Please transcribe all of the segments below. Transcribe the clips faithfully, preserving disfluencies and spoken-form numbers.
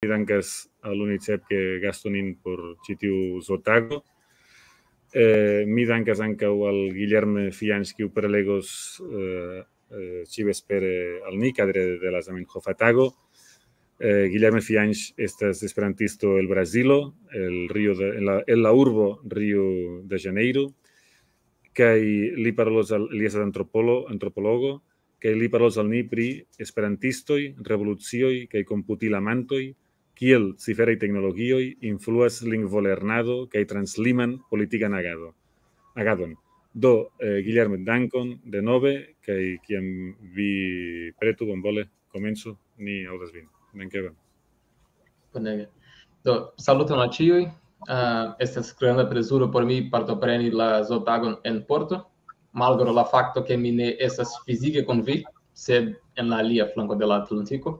dankas al UNICEF ke gastu nin por ĉi tiu Zotago. Eh, mi dankas ankaŭ al Guilherme Fianch, kiu prelegos eh, eh, ĉivespere al ni kadre de la Zamenhofa tago. Eh, Guilherme Fianch estas esperantisto el Brazilo, el Rio de, en la, en la urbo Rio de Janeiro, kaj li parolos al, li estas antropolo, antropologo, kaj li parolos al ni pri esperantistoj, revolucioj kaj komputilamantoj, kiel ciferaj teknologioj influas lingvolernado kaj transliman politikan agado, agadon. Do, eh, Guillermo, dankon denove, kaj kiam vi pretu, bonvole komencu, ni aŭdas vin. Dankevon. Bonege. Do, saluton al ĉiuj. Uh, estas granda plezuro por mi partopreni la Zotagon en Porto, malgraŭ la fakto ke mi ne estas fizike kun vi, sed en la alia flanko de la Atlantiko.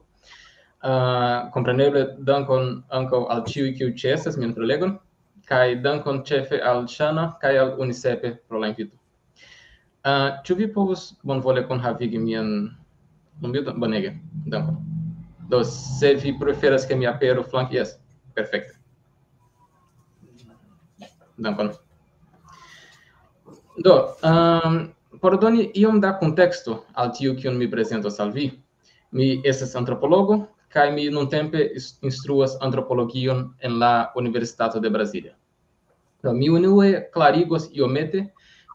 Uh, kompreneble dankon ankaŭ al ĉiuj, kiuj ĉeestas mian prelegon, kaj dankon ĉefe al Ŝana kaj al UNICEF pro la invito. Uh, ĉu vi povus bonvole kunhavigi mian lumbiton? Bonege, dankon. Do, se vi preferas ke mi aperu flanke, jes, perfekte. Dankon. Do, um, por doni iom da konteksto al tio, kion mi prezentos al vi, mi estas antropologo, kaj mi nuntempe instruas antropologion en la Universitato de Brasilia. Do, mi unue klarigos iomete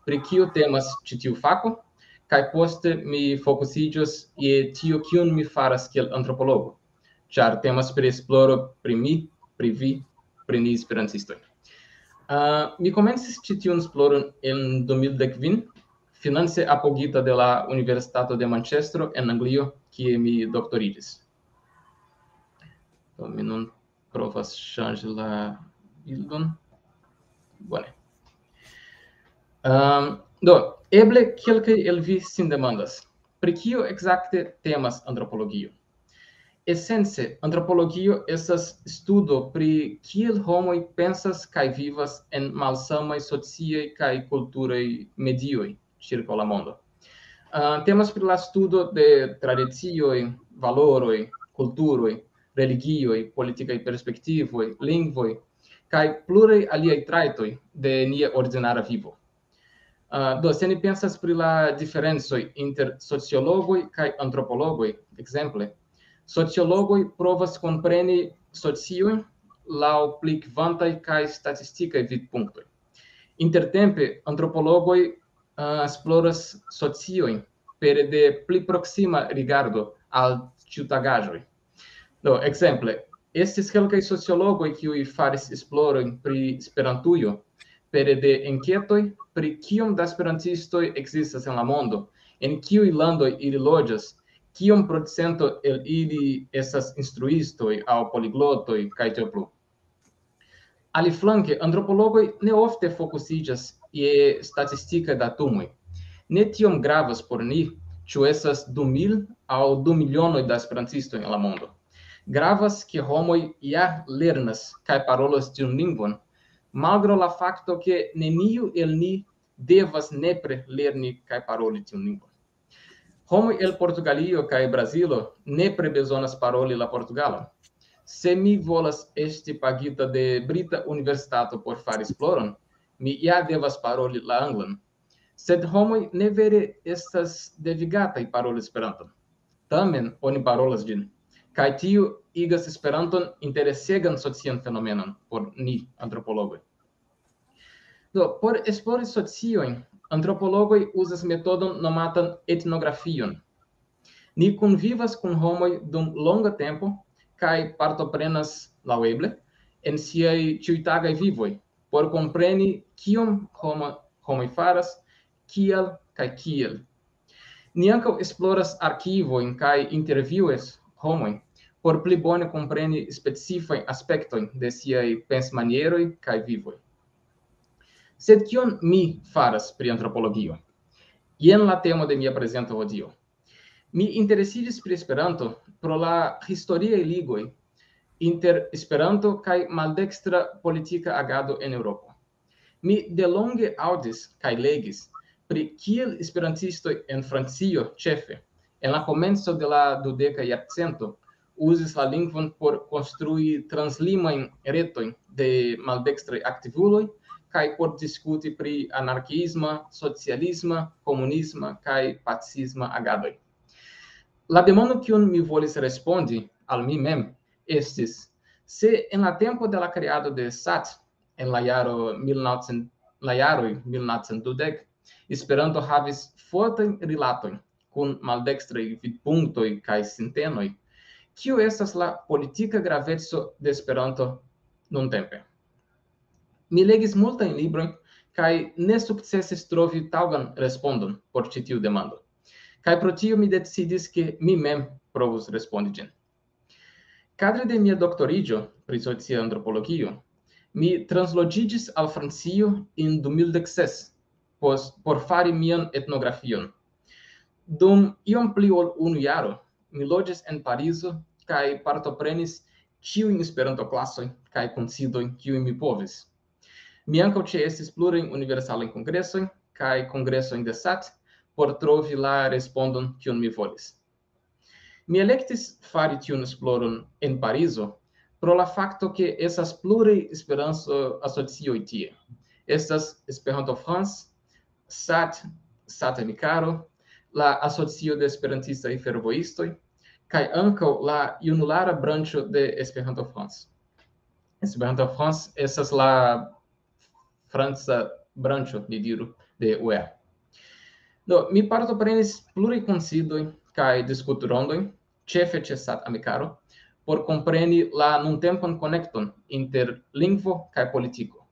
pri kio temas ĉi tiu fako, kaj poste mi fokusiĝos je tio, kion mi faras kiel antropologo, ĉar temas pri esploro pri mi, pri vi, pri ni esperantistoj. Uh, mi komencis ĉi tiun esploron en du mil dek kvin, finance apogita de la Universitato de Manchestro en Anglio, kie mi doktoriĝis. Do, mi nun provas ŝanĝi la bildon. Bone. Um, do, eble kelkaj el vi sin demandas, pri kio ekzakte temas antropologio? Esence, antropologio estas studo pri kiel homoj pensas kaj vivas en malsamaj sociaj kaj kulturaj medioj ĉirkaŭ la mondo. Uh, temas pri la studo de tradicioj, valoroj, kulturoj, religioj, politikaj perspektivoj, lingvoj, kaj pluraj aliaj trajtoj de nia ordinara vivo. Uh, do, se ni pensas pri la diferencoj inter sociologoj kaj antropologoj, ekzemple, sociologoj provas kompreni sociojn laŭ pli kvantaj kaj statistikaj vidpunktoj. Intertempe, antropologoj uh, esploras sociojn pere de pli proksima rigardo al ĉiutagaĵoj. Do, ekzemple, estis kelkaj sociologoj, kiuj faris esplorojn pri Esperantujo pere de enketoj pri kiom da esperantistoj ekzistas en la mondo, en kiuj landoj ili loĝas, kiom procento el ili estas instruistoj aŭ poliglotoj, kaj tiel plu. Aliflanke, antropologoj ne ofte fokusiĝas je statistikaj datumoj. Ne tiom gravas por ni, ĉu estas du mil aŭ du milionoj da esperantistoj en la mondo. Gravas, ke homoj ja lernas kaj parolas tiun lingvon, malgraŭ la fakto, ke neniu el ni devas nepre lerni kaj paroli tiun lingvon. Homoj el Portugalio kaj Brazilo nepre bezonas paroli la portugalan. Se mi volas esti pagita de brita universitato por fari esploron, mi ja devas paroli la anglan. Sed homoj ne vere estas devigataj paroli Esperanton. Tamen oni parolas ĝin, kaj tio igas Esperanton interesegan socian fenomenon por ni, antropologoj. Do, por esplori sociojn, antropologoj uzas metodon nomatan etnografion. Ni kunvivas kun homoj dum longa tempo kaj partoprenas laŭeble en siaj ĉiutagaj vivoj, por kompreni, kion homa, homoj faras, kial kaj kiel. Ni ankaŭ esploras arkivojn kaj intervjuas homojn por pli bone kompreni specifajn aspektojn de siaj pensmanieroj kaj vivoj. Sed kion mi faras pri antropologio? Jen la temo de mia prezento hodiaŭ. Mi interesiĝis pri Esperanto pro la historiaj ligoj inter Esperanto kaj maldekstra politika agado en Eŭropo. Mi delonge aŭdis kaj legis pri kiel esperantistoj en Francio ĉefe, en la komenco de la dudeka jarcento, uzis la lingvon por konstrui translimajn retojn de maldekstraj aktivuloj kaj por diskuti pri anarkiisma, socialisma, komunisma kaj pacifisma agadoj. La demando, kiun mi volis respondi al mi mem, estis, se en la tempo de la kreado de sat, en la jaro mil novcent, la jaroj mil novcent dudek, Esperanto havis fortajn rilatojn kun maldekstraj vidpunktoj kaj sintenoj, kio estas la politika graveco de Esperanto nuntempe? Mi legis multajn librojn kaj ne sukcesis trovi taŭgan respondon por ĉi tiu demando. Kaj pro tio mi decidis, ke mi mem provus respondi ĝin. Kadre de mia doktoriĝo pri socia antropologio, mi transloĝiĝis al Francio en du mil dek ses pos-, por fari mian etnografion. Dum iom pli ol unu jaro, mi loĝis en Parizo kaj partoprenis ĉiujn Esperanto-klasojn kaj kunsidojn, kiujn mi povis. Mi ankaŭ ĉeestis plurajn universalajn kongresojn kaj kongresojn de sat por trovi la respondon, kiun mi volis. Mi elektis fari tiun esploron en Parizo pro la fakto, ke estas pluraj Esperanto-asocioj tie. Estas Esperanto France, sat, sat Amikaro, la Asocio de Esperantistaj Fervojistoj, kaj ankaŭ la junulara branĉo de Esperanto France. Esperanto France estas la franca branĉo, ni diru, de U E A. Do, mi partoprenis pluraj kunsidoj kaj diskutrondoj, ĉefe ĉe sat Amikaro, por kompreni la nuntempan konekton inter lingvo kaj politiko.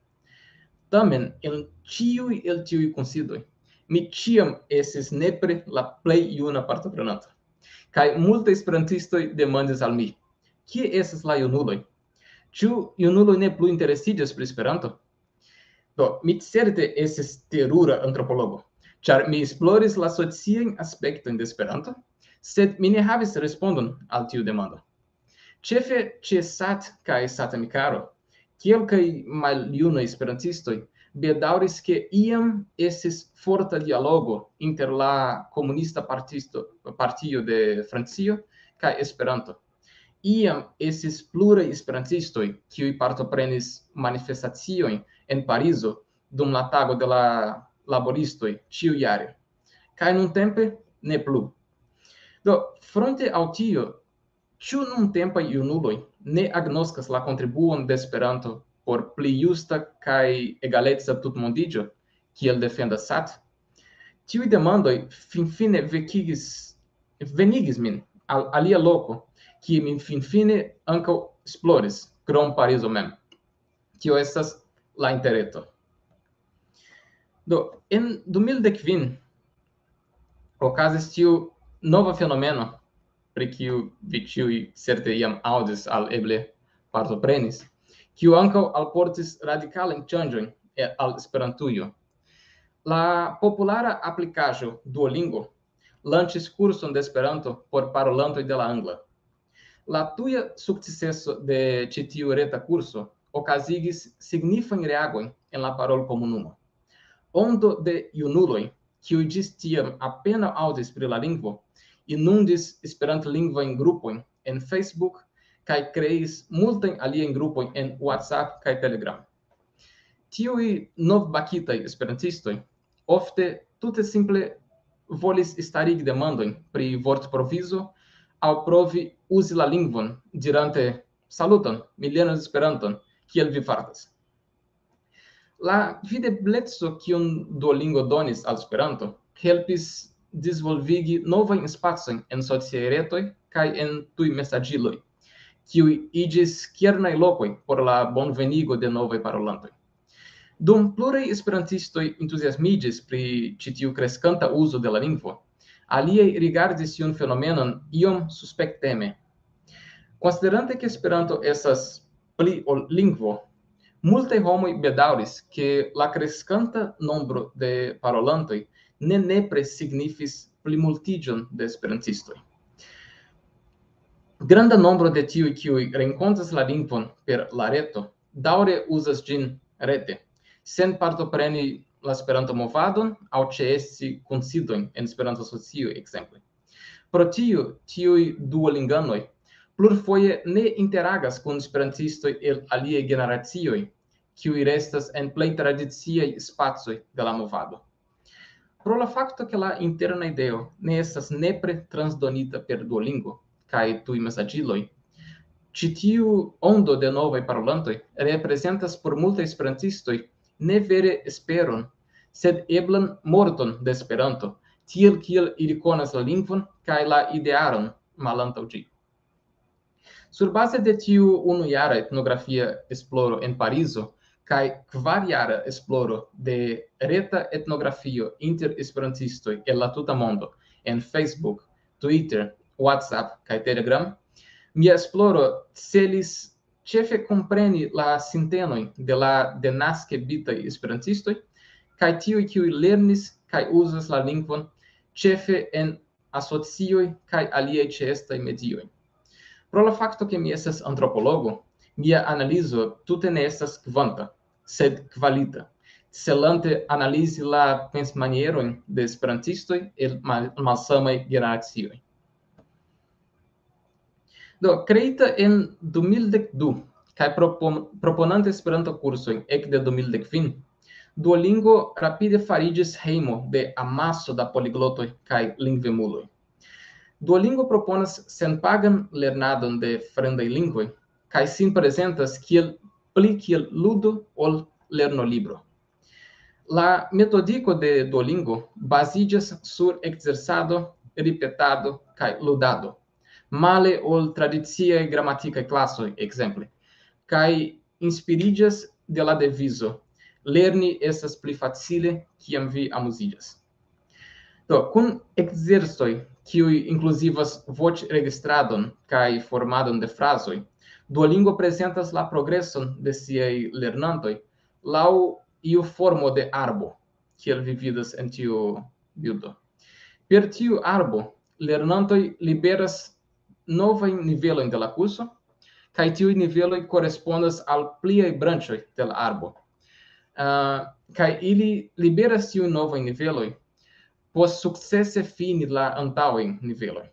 Tamen, en ĉiuj el tiuj kunsidoj, mi ĉiam estis nepre la plej juna partoprenanto. Kaj multaj esperantistoj demandis al mi, kie estas la junuloj? Ĉu junuloj ne plu interesiĝas pri Esperanto? Do, mi certe estis terura antropologo, ĉar mi esploris la sociajn aspektojn de Esperanto, sed mi ne havis respondon al tiu demando. Ĉefe ĉe sat kaj sat Amikaro, kelkaj maljunaj esperantistoj bedaŭris, ke iam estis forta dialogo inter la komunista partisto, partio de Francio kaj Esperanto. Iam estis pluraj esperantistoj, kiuj partoprenis manifestaciojn en Parizo dum la tago de la laboristoj ĉiujare. Kaj nuntempe ne plu. Do, fronte al tio, ĉu nuntempaj junuloj ne agnoskas la kontribuon de Esperanto por pli justa kaj egaleca tutmondiĝo, kiel defendas sat? Tiuj demandoj finfine vekigis, venigis min al alia loko, kie mi finfine ankaŭ esploris, krom Parizo mem. Tio estas la interreto. Do, en du mil dek kvin okazis tiu nova fenomeno, pri kiu vi ĉiuj certe jam aŭdis al eble partoprenis, kiu ankaŭ alportis radikalajn ŝanĝojn e-, al Esperantujo. La populara aplikaĵo Duolingo lanĉis kurson de Esperanto por parolantoj de la angla. La tuja sukceso de ĉi tiu reta kurso okazigis signifajn reagojn en la parolkomunumo. Ondo de junuloj, kiuj ĝis tiam apenaŭ aŭdis pri la lingvo, inundis esperantlingvajn grupojn en Facebook kaj kreis multajn aliajn grupojn en WhatsApp kaj Telegram. Tiuj novbakitaj esperantistoj ofte tute simple volis starigi demandojn pri vortprovizo aŭ provi uzi la lingvon, dirante: "Saluton, mi lernas Esperanton, kiel vi fartas?" La videbleco, kiun Duolingo donis al Esperanto, helpis disvolvigi novajn spacojn en sociaj retoj kaj en tuj mesaĝiloj, kiuj iĝis kernaj lokoj por la bonvenigo de novaj parolantoj. Dum pluraj esperantistoj entuziasmiĝis pri ĉi tiu kreskanta uzo de la lingvo, aliaj rigardis tiun fenomenon iom suspekteme. Konsiderante, ke Esperanto estas pli ol lingvo, multaj homoj bedaŭris, ke la kreskanta nombro de parolantoj ne nepre signifis plimultiĝon de esperantistoj. Granda nombro de tiuj, kiuj renkontas la lingvon per la reto, daŭre uzas ĝin rete, sen partopreni la Esperanto-movadon aŭ ĉeesti kunsidojn en Esperanto-asocio, ekzemple. Pro tio, tiuj duolinganoj plurfoje ne interagas kun esperantistoj el aliaj generacioj, kiuj restas en plej tradiciaj spacoj de la movado. Pro la fakto, ke la interna ideo ne estas nepre transdonita per Duolingo kaj tuj mesaĝiloj, ĉi tiu ondo de novaj parolantoj reprezentas por multaj esperantistoj ne vere esperon, sed eblan morton de Esperanto, tiel kiel ili konas la lingvon kaj la idearon malantaŭ ĝi. Surbaze de tiu unujara etnografia esploro en Parizo kaj kvarjara esploro de reta etnografio inter esperantistoj el la tuta mondo en Facebook, Twitter, WhatsApp kaj Telegram, mia esploro celis ĉefe kompreni la sintenojn de la denaske bitaj esperantistoj kaj tiuj, kiuj lernis kaj uzas la lingvon ĉefe en asocioj kaj aliaj ĉeestaj medioj. Pro la fakto, ke mi estas antropologo, mia analizo tute ne estas kvanta, sed kvalita, celante analizi la pensmanierojn de esperantistoj el mal-, malsamaj generacioj. Do, kreita en du mil dek du, kaj propon-, proponante Esperanto-kursojn ekde du mil dek kvin, Duolingo rapide fariĝis hejmo de amaso da poliglotoj kaj lingvemuloj. Duolingo proponas senpagan lernadon de fremdaj lingvoj, kaj sin prezentas kiel, pli kiel ludo ol lernolibro. La metodiko de Duolingo baziĝas sur ekzercado, ripetado kaj ludado, male ol tradiciaj gramatikaj klasoj, ekzemple, kaj inspiriĝas de la devizo: "Lerni estas pli facile, kiam vi amuziĝas." Do, kun ekzercoj, kiuj inkluzivas voĉregistradon kaj formadon de frazoj, Duolingo prezentas la progreson de siaj lernantoj laŭ iu formo de arbo, kiel vi vidas en tiu bildo. Per tiu arbo, lernantoj liberas novajn nivelojn de la kurso, kaj tiuj niveloj korespondas al pliaj branĉoj de la arbo. Ah, kaj ili liberas tiujn novajn niveloj post sukcese fini la antaŭajn nivelojn.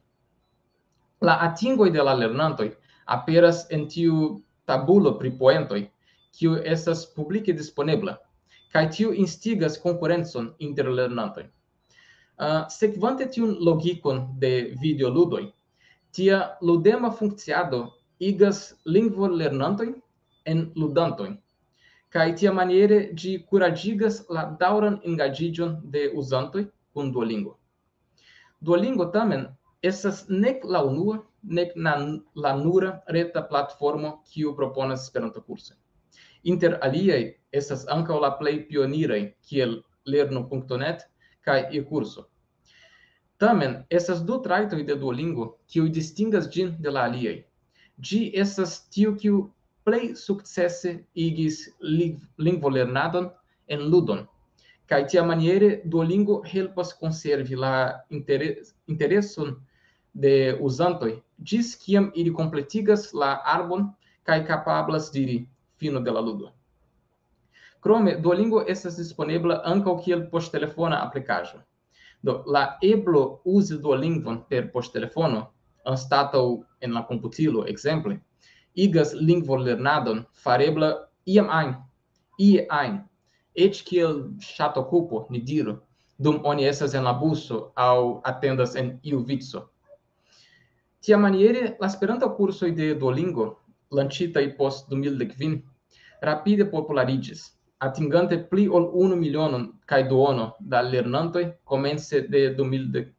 La atingoj de la lernantoj aperas en tiu tabulo pri poentoj, kiu estas publike disponebla, kaj tiu instigas konkurencon inter lernantoj. Ah, sekvante tiun logikon de videoludoj, tia ludema funkciado igas lingvolernantojn en ludantojn, kaj tiamaniere ĝi kuraĝigas la daŭran engaĝiĝon de uzantoj kun Duolingo. Duolingo tamen estas nek la unua, nek na-, la nura reta platformo, kiu proponas Esperanto-kursojn. Inter aliaj estas ankaŭ la plej pioniraj, kiel lernu punkto net kaj e-kurso. Tamen, estas du trajtoj de Duolingo, kiuj distingas ĝin de la aliaj. Ĝi estas tiu, kiu plej sukcese igis ling-, lingvolernadon en ludon. Kaj tiamaniere Duolingo helpas konservi la intere-, intereson de uzantoj, ĝis kiam ili kompletigas la arbon kaj kapablas diri: "Fino de la ludo." Krome, Duolingo estas disponebla ankaŭ kiel poŝtelefona aplikaĵo. Do, la eblo uzi Duolingon per poŝtelefono, anstataŭ en la komputilo, ekzemple, igas lingvolernadon farebla iam ajn, ie ajn, eĉ kiel ŝatokupo, ni diru, dum oni estas en la buso aŭ atendas en iu vico. Tiamaniere, la Esperanto-kursoj de Duolingo, lanĉitaj post du mil dek kvin, rapide populariĝis, atingante pli ol unu milionon kaj duono da lernantoj komence de du mil dek,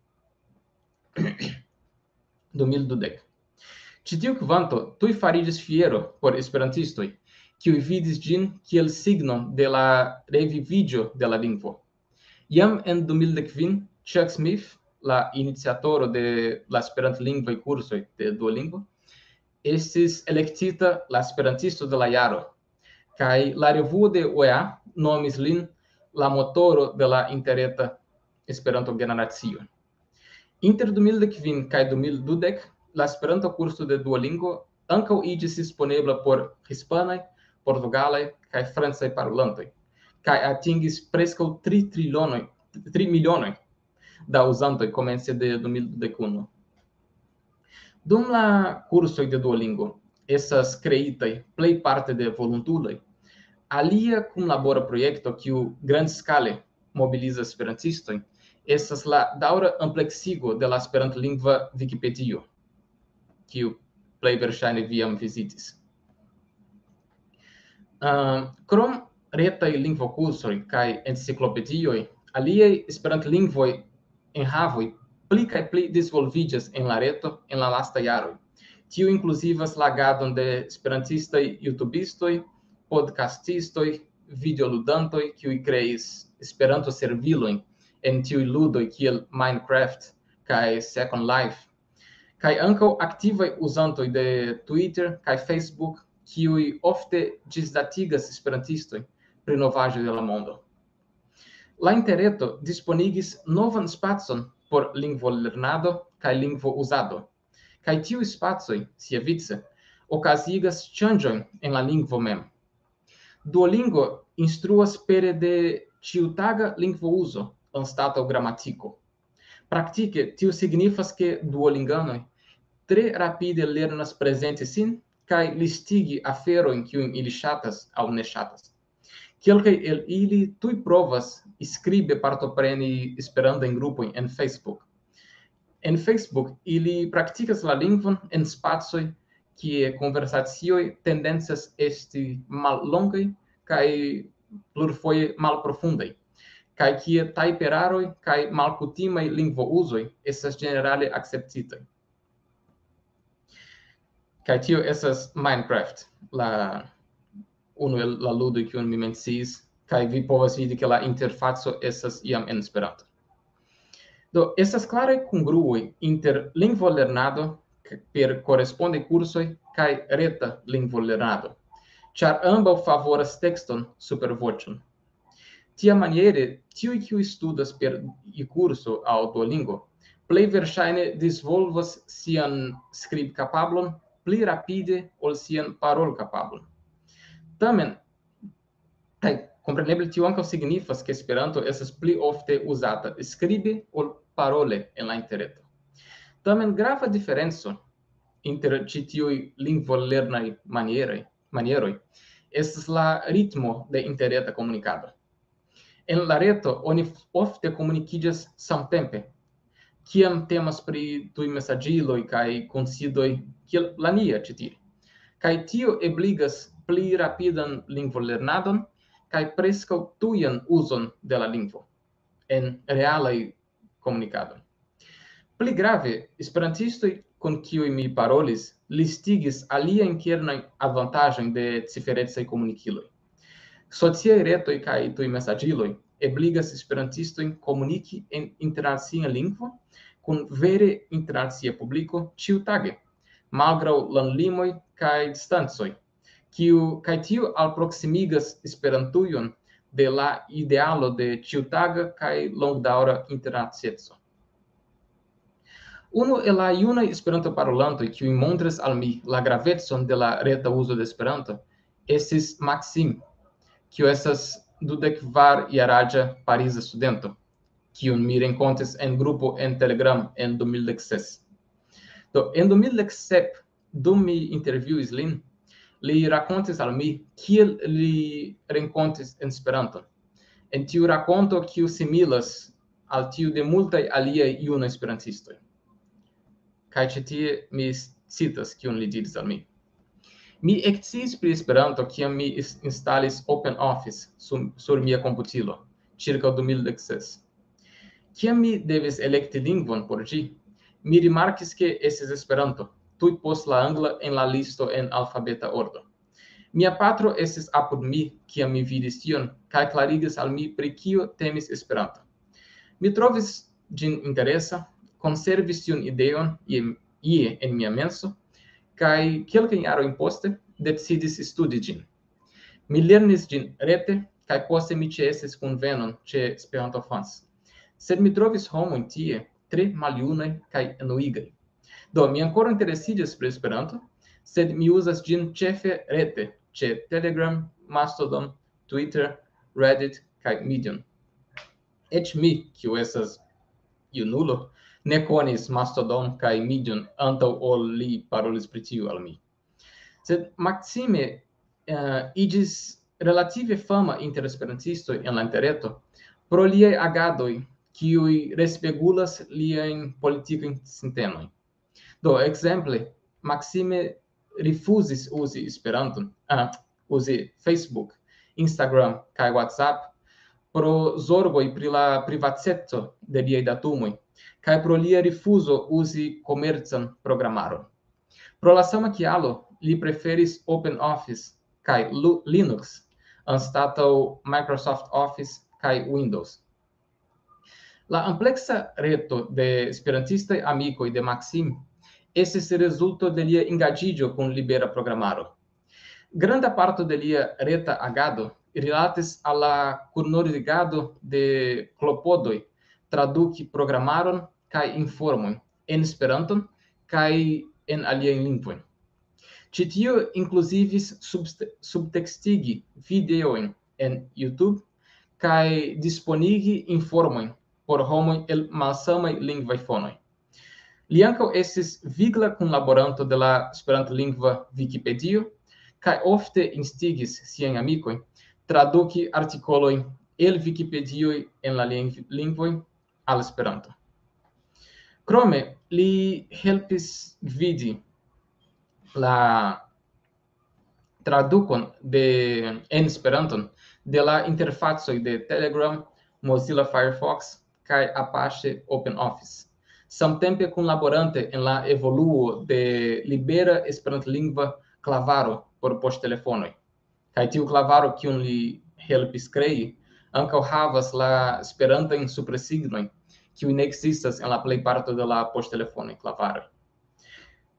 du mil dudek. Ĉi tiu kvanto tuj fariĝis fiero por esperantistoj, kiuj vidis ĝin kiel signon de la reviviĝo de la lingvo. Jam en du mil dek kvin, Chuck Smith, la iniciatoro de la esperantlingvaj kursoj de Duolingo, estis elektita la Esperantisto de la Jaro, kaj la revuo de O E A nomis lin la motoro de la interreta Esperanto-generacio. Inter du mil dek kvin kaj du mil dudek, la Esperanto-kurso de Duolingo ankaŭ iĝis disponebla por hispanaj, portugalaj kaj francaj parolantoj, kaj atingis preskaŭ tri trilionoj, tri milionoj da uzantoj komence de du mil dek unu. Dum la kursoj de Duolingo estas kreitaj plejparte de volontuloj, alia kunlabora projekto, kiu grandskale mobilizas esperantistojn, estas la daŭra ampleksigo de la esperantlingva Vikipedio, kiu plej verŝajne vi jam vizitis. Uh, krom retaj lingvokursoj kaj enciklopedioj, aliaj esperantlingvoj enhavoj pli kaj pli disvolviĝas en la reto en la lastaj jaroj. Tio inkluzivas la agadon de esperantistaj youtubistoj, podcastistoj, videoludantoj, kiuj kreis Esperanto-servilojn en tiuj ludoj kiel Minecraft kaj Second Life, kaj ankaŭ aktivaj uzantoj de Twitter kaj Facebook, kiuj ofte ĝisdatigas esperantistojn pri novaĵoj de la mondo. La interreto disponigis novan spacon por lingvolernado kaj lingvouzado, kaj tiuj spacoj, siavice, okazigas ŝanĝojn en la lingvo mem. Duolingo instruas pere de ĉiutaga lingvouzo anstataŭ gramatiko. Praktike, tio signifas, ke duolinganoj tre rapide lernas prezenti sin kaj listigi aferojn, kiujn ili ŝatas aŭ ne ŝatas. Kelkaj el ili tuj provas skribe partopreni Esperantajn grupojn en Facebook. En Facebook ili praktikas la lingvon en spacoj, kie konversacioj tendencas esti mallongaj kaj plurfoje malprofundaj, kaj kie tajperaroj kaj malkutimaj lingvouzoj estas ĝenerale akceptitaj. Kaj tio estas Minecraft, la unu el la ludoj, kiun mi menciis, kaj vi povas vidi, ke la interfaco estas jam en Esperanto. Do, estas klaraj kongruoj inter lingvolernado k-, per korespondaj kursoj kaj reta lingvolernado, ĉar ambaŭ favoras tekston super voĉon. Tiamaniere, tiuj, kiuj studas per e-kurso aŭ Duolingo, plej verŝajne disvolvas sian skribkapablon pli rapide ol sian parolkapablon. Tamen, kaj kompreneble tio ankaŭ signifas, ke Esperanto estas pli ofte uzata skribe ol parole en la interreto. Tamen grava diferenco inter ĉi tiuj lingvolernaj manieroj, manieroj estas la ritmo de interreta komunikado. En la reto oni f-, ofte komunikiĝas samtempe, kiam temas pri tuj mesaĝiloj kaj kunsidoj kiel la nia ĉi tie. Kaj tio ebligas pli rapidan lingvolernadon kaj preskaŭ tujan uzon de la lingvo en realaj komunikadoj. Pli grave, esperantistoj, kun kiuj mi parolis, listigis aliajn kernajn avantaĝojn de ciferecaj komunikiloj. Sociaj retoj kaj tuj mesaĝiloj ebligas esperantistojn komuniki en internacia lingvo kun vere internacia publiko ĉiutage, malgraŭ landlimoj kaj distancoj, kiu, kaj tio alproksimigas Esperantujon de la idealo de ĉiutaga kaj longdaŭra internacieco. Unu el la junaj Esperanto-parolantoj, kiuj montris al mi la gravecon de la reta uzo de Esperanto, estis Maxim, kiu estas dudek kvar jaraĝa pariza studento, kiun mi renkontis en grupo en Telegram en du mil dek ses. Do, en du mil dek sep, dum mi intervjuis lin, li rakontis al mi, kiel li renkontis en Esperanto. En tiu rakonto, kiu similas al tiu de multaj aliaj junaj esperantistoj. Kaj ĉi tie mi s-, citas, kion li diris al mi. Mi eksciis pri Esperanto, kiam mi is-, instalis OpenOffice sur, sur mia komputilo, ĉirkaŭ du mil dek ses. Kiam mi devis elekti lingvon por ĝi, mi rimarkis, ke estis Esperanto, tuj post la angla en la listo en alfabeta ordo. Mia patro estis apud mi, kiam mi vidis tion, kaj klarigis al mi, pri kio temis Esperanto. Mi trovis ĝin interesa, konservis tiun ideon ie, ie en mia menso, kaj kelkajn jarojn poste decidis studi ĝin. Mi lernis ĝin rete, kaj poste mi ĉeestis kunvenon ĉe Esperanto Fans. Sed mi trovis homojn tie tre maljunaj kaj enuigaj. Do, mi ankoraŭ interesiĝas pri Esperanto, sed mi uzas ĝin ĉefe rete, ĉe Telegram, Mastodon, Twitter, Reddit kaj Medium. Eĉ mi, kiu estas junulo, ne konis Mastodon kaj Medium antaŭ ol li parolis pri tiu al mi. Sed Maxime uh, iĝis relative fama inter esperantistoj en la interreto pro liaj agadoj, kiuj respegulas liajn politikajn sintenojn. Do, ekzemple, Maxime rifuzis uzi Esperanton, ah, uzi Facebook, Instagram kaj WhatsApp pro zorgoj pri la privateco de liaj datumoj kaj pro lia rifuzo uzi komercan programaron. Pro la sama kialo li preferis OpenOffice kaj Linux anstataŭ Microsoft Office kaj Windows. La ampleksa reto de esperantistaj amikoj de Maxim estis rezulto de lia engaĝiĝo kun libera programaro. Granda parto de lia reta agado rilatis al la kunnordigado de klopodoj traduki programaron kaj informojn en Esperanton kaj en aliajn lingvojn. Ĉi tio inkluzivis subtekstigi videojn en YouTube kaj disponigi informojn por homoj el malsamaj lingvaj fonoj. Li ankaŭ estis vigla kunlaboranto de la esperantlingva Vikipedio kaj ofte instigis siajn amikojn traduki artikolojn el Vikipedioj en la lingvoj al Esperanto. Krome li helpis gvidi la tradukon de en Esperanton de la interfacoj de Telegram, Mozilla Firefox kaj Apache OpenOffice, samtempe kunlaborante en la evoluo de libera esperantlingva klavaro por poŝtelefonoj. Kaj tiu klavaro, kiun li helpis krei, ankaŭ havas la esperantajn supresignojn, kiuj ne ekzistas en la plej parto de la poŝtelefonaj klavaroj.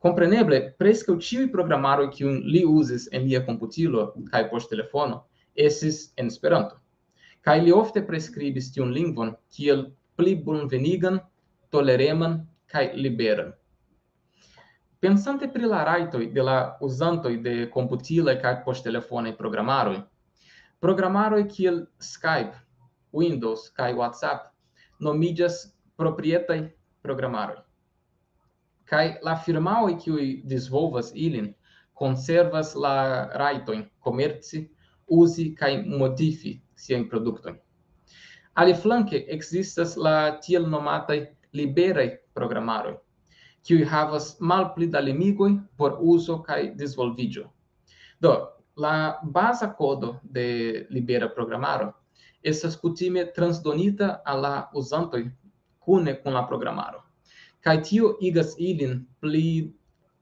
Kompreneble, preskaŭ ĉiuj programaroj, kiujn li uzis en lia komputilo kaj poŝtelefono, estis en Esperanto. Kaj li ofte preskribis tiun lingvon kiel pli bonvenigan, tolereman kaj liberan. Pensante pri la rajtoj de la uzantoj de komputilaj kaj poŝtelefonaj programaroj, programaroj kiel Skype, Windows kaj WhatsApp nomiĝas proprietaj programaroj. Kaj la firmaoj, kiuj disvolvas ilin, konservas la rajtojn komerci, uzi kaj modifi siajn produktojn. Aliflanke ekzistas la tiel nomataj liberaj programaroj, kiuj havas malpli da limigoj por uzo kaj disvolviĝo. Do, la baza kodo de libera programaro estas kutime transdonita al la uzantoj kune kun la programaro. Kaj tio igas ilin pli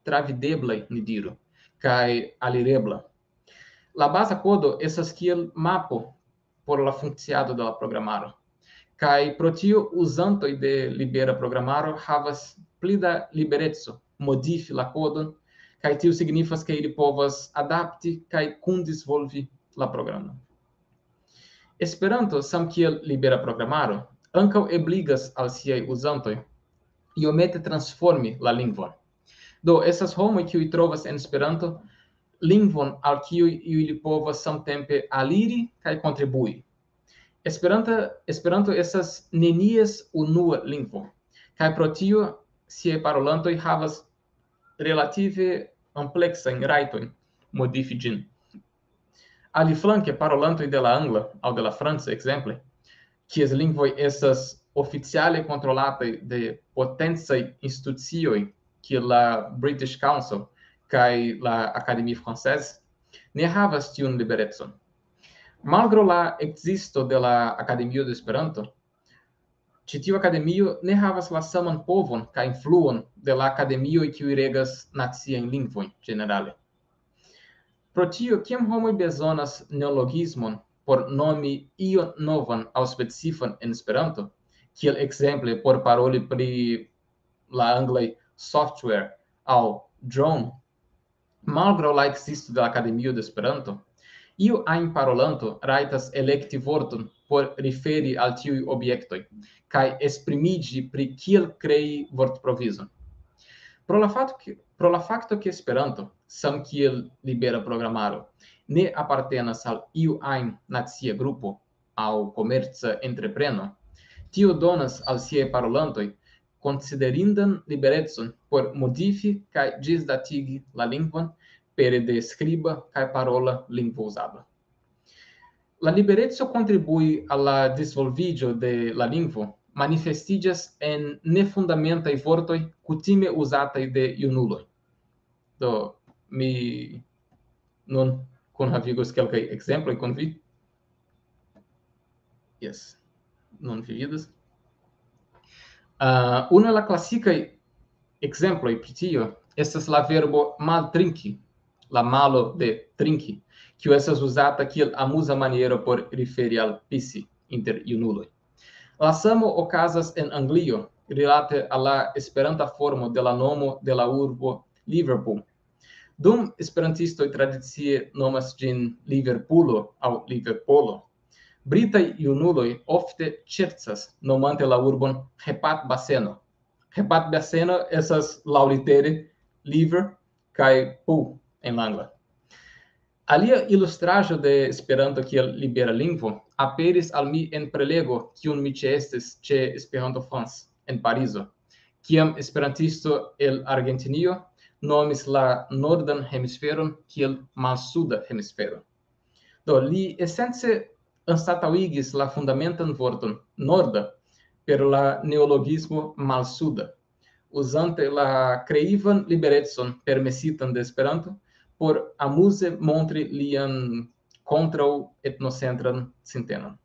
travideblaj, ni diru, kaj alirebla. La baza kodo estas kiel mapo por la funkciado de la programaro. Kaj pro tio uzantoj de libera programaro havas pli da libereco modifi la kodon, kaj tio signifas, ke ili povas adapti kaj kundisvolvi la programon. Esperanto, samkiel libera programaro, ankaŭ ebligas al siaj uzantoj iomete transformi la lingvon. Do, estas homoj, kiuj trovas en Esperanto lingvon al kiuj ili povas samtempe aliri kaj kontribui. Esperanta, Esperanto estas nenies unua lingvo, kaj pro tio siaj parolantoj havas relative ampleksajn rajtojn modifi ĝin. Aliflanke, parolantoj de la angla aŭ de la franca, ekzemple, kies lingvoj estas oficiale kontrolataj de potencaj institucioj kiel la British Council kaj la Académie Française, ne havas tiun liberecon. Malgraŭ la ekzisto de la Akademio de Esperanto, ĉi tiu akademio ne havas la saman povon kaj influon de la akademioj, kiuj regas naciajn lingvojn ĝenerale. Pro tio, kiam homoj bezonas neologismon por nomi ion novan aŭ specifan en Esperanto, kiel ekzemple por paroli pri la anglaj software aŭ drone, malgraŭ la ekzisto de la Akademio de Esperanto, iu ajn parolanto rajtas elekti vorton por referi al tiuj objektoj kaj esprimiĝi pri kiel krei vortprovizon. Pro la fakto, ke, pro la fakto, ke Esperanto, samkiel libera programaro, ne apartenas al iu ajn nacia grupo aŭ komerca entrepreno, tio donas al siaj parolantoj konsiderindan liberecon por modifi kaj ĝisdatigi la lingvon pere de skriba kaj parola lingvouzado. La libereco kontribui al la disvolviĝo de la lingvo manifestiĝas en nefundamentaj vortoj kutime uzataj de junuloj. Do, mi nun kunhavigos kelkaj ekzemploj kun vi. Jes, nun vi vidas. Uh, una el la klasikaj ekzemploj pri tio estas la verbo maltrinki, la malo de trinki, kiu estas uzata kiel amuza maniero por referi al pisi inter junuloj. La samo okazas en Anglio, rilate al la esperanta formo de la nomo de la urbo Liverpool. Dum esperantistoj tradicie nomas ĝin Liverpulo aŭ Liverpolo, britaj junuloj ofte ŝercas nomante la urbon Hepatbaseno. Hepatbaseno estas laŭlitere liver kaj pool en la angla. Alia ilustraĵo de Esperanto kiel libera lingvo aperis al mi en prelego, kiun mi ĉeestis ĉe Esperanto France en Parizo, kiam esperantisto el Argentinio nomis la nordan hemisferon kiel malsuda hemisfero. Do, li esence anstataŭigis la fundamentan vorton norda per la neologismo malsuda, uzante la kreivan liberecon permesitan de Esperanto por amuze montri lian kontraŭ etnocentran sintenon.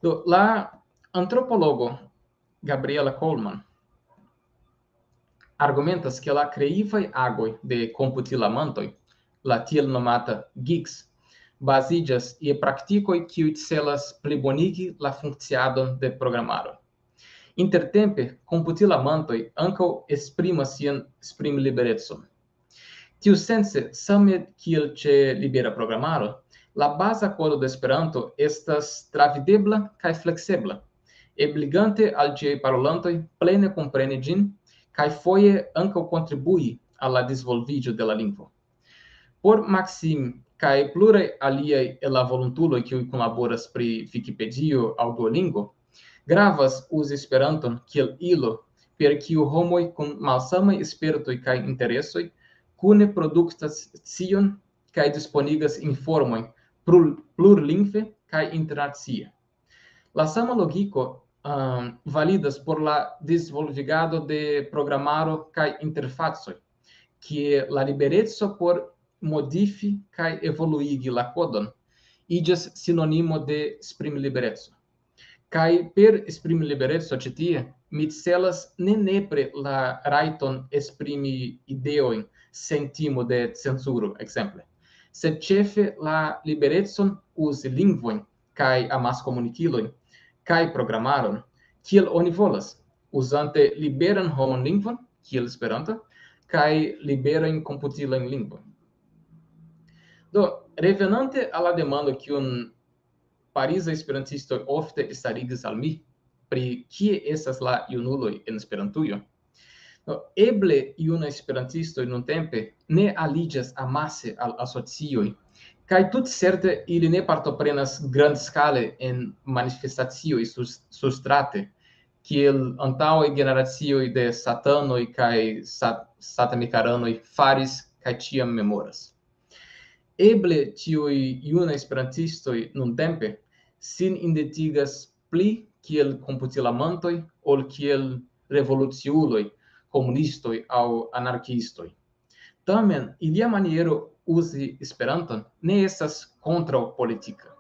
Do, la antropologo Gabriela Coleman argumentas, ke la kreivaj agoj de komputilamantoj, la tiel nomata geeks, baziĝas je praktikoj, kiuj celas plibonigi la funkciadon de programaro. Intertempe, komputilamantoj ankaŭ esprimas sian esprimliberecon. Tiusence, same kiel ĉe libera programaro, la baza kodo de Esperanto estas travidebla kaj fleksebla, ebligante al ĝiaj parolantoj plene kompreni ĝin kaj foje ankaŭ kontribui al la disvolviĝo de la lingvo. Por Maxim kaj pluraj aliaj el la volontuloj, kiuj kunlaboras pri Vikipedio aŭ Duolingo, gravas uzi Esperanton kiel ilo, per kiu homoj kun malsamaj spertoj kaj interesoj kune produktas scion kaj disponigas informojn plur-, plurlingve kaj internacie. La sama logiko, ehm, validas por la disvolvigado de programaro kaj interfacoj, kie la libereco por modifi kaj evoluigi la kodon iĝas sinonimo de esprimlibereco. Kaj per esprimlibereco ĉi tie, mi celas ne nepre la rajton esprimi ideojn sen timo de cenzuro, ekzemple, sed ĉefe la liberecon uzi lingvojn kaj amaskomunikilojn kaj programaron, kiel oni volas, uzante liberan homon lingvon, kiel Esperanto, kaj liberajn komputilajn lingvojn. Do, revenante al la demando, kiun parizaj esperantistoj ofte starigis al mi, pri kie estas la junuloj en Esperantujo. Do, eble junaj esperantistoj nuntempe ne aliĝas amase al asocioj, kaj tutcerte ili ne partoprenas grandskale en manifestacioj sus-, surstrate, kiel antaŭaj generacioj de satanoj kaj sat-, satanikaranoj faris kaj ĉiam memoras. Eble tiuj junaj esperantistoj nuntempe sin identigas pli kiel komputilamantoj ol kiel revoluciuloj, komunistoj aŭ anarkiistoj. Tamen, ilia maniero uzi Esperanton ne estas kontraŭpolitika.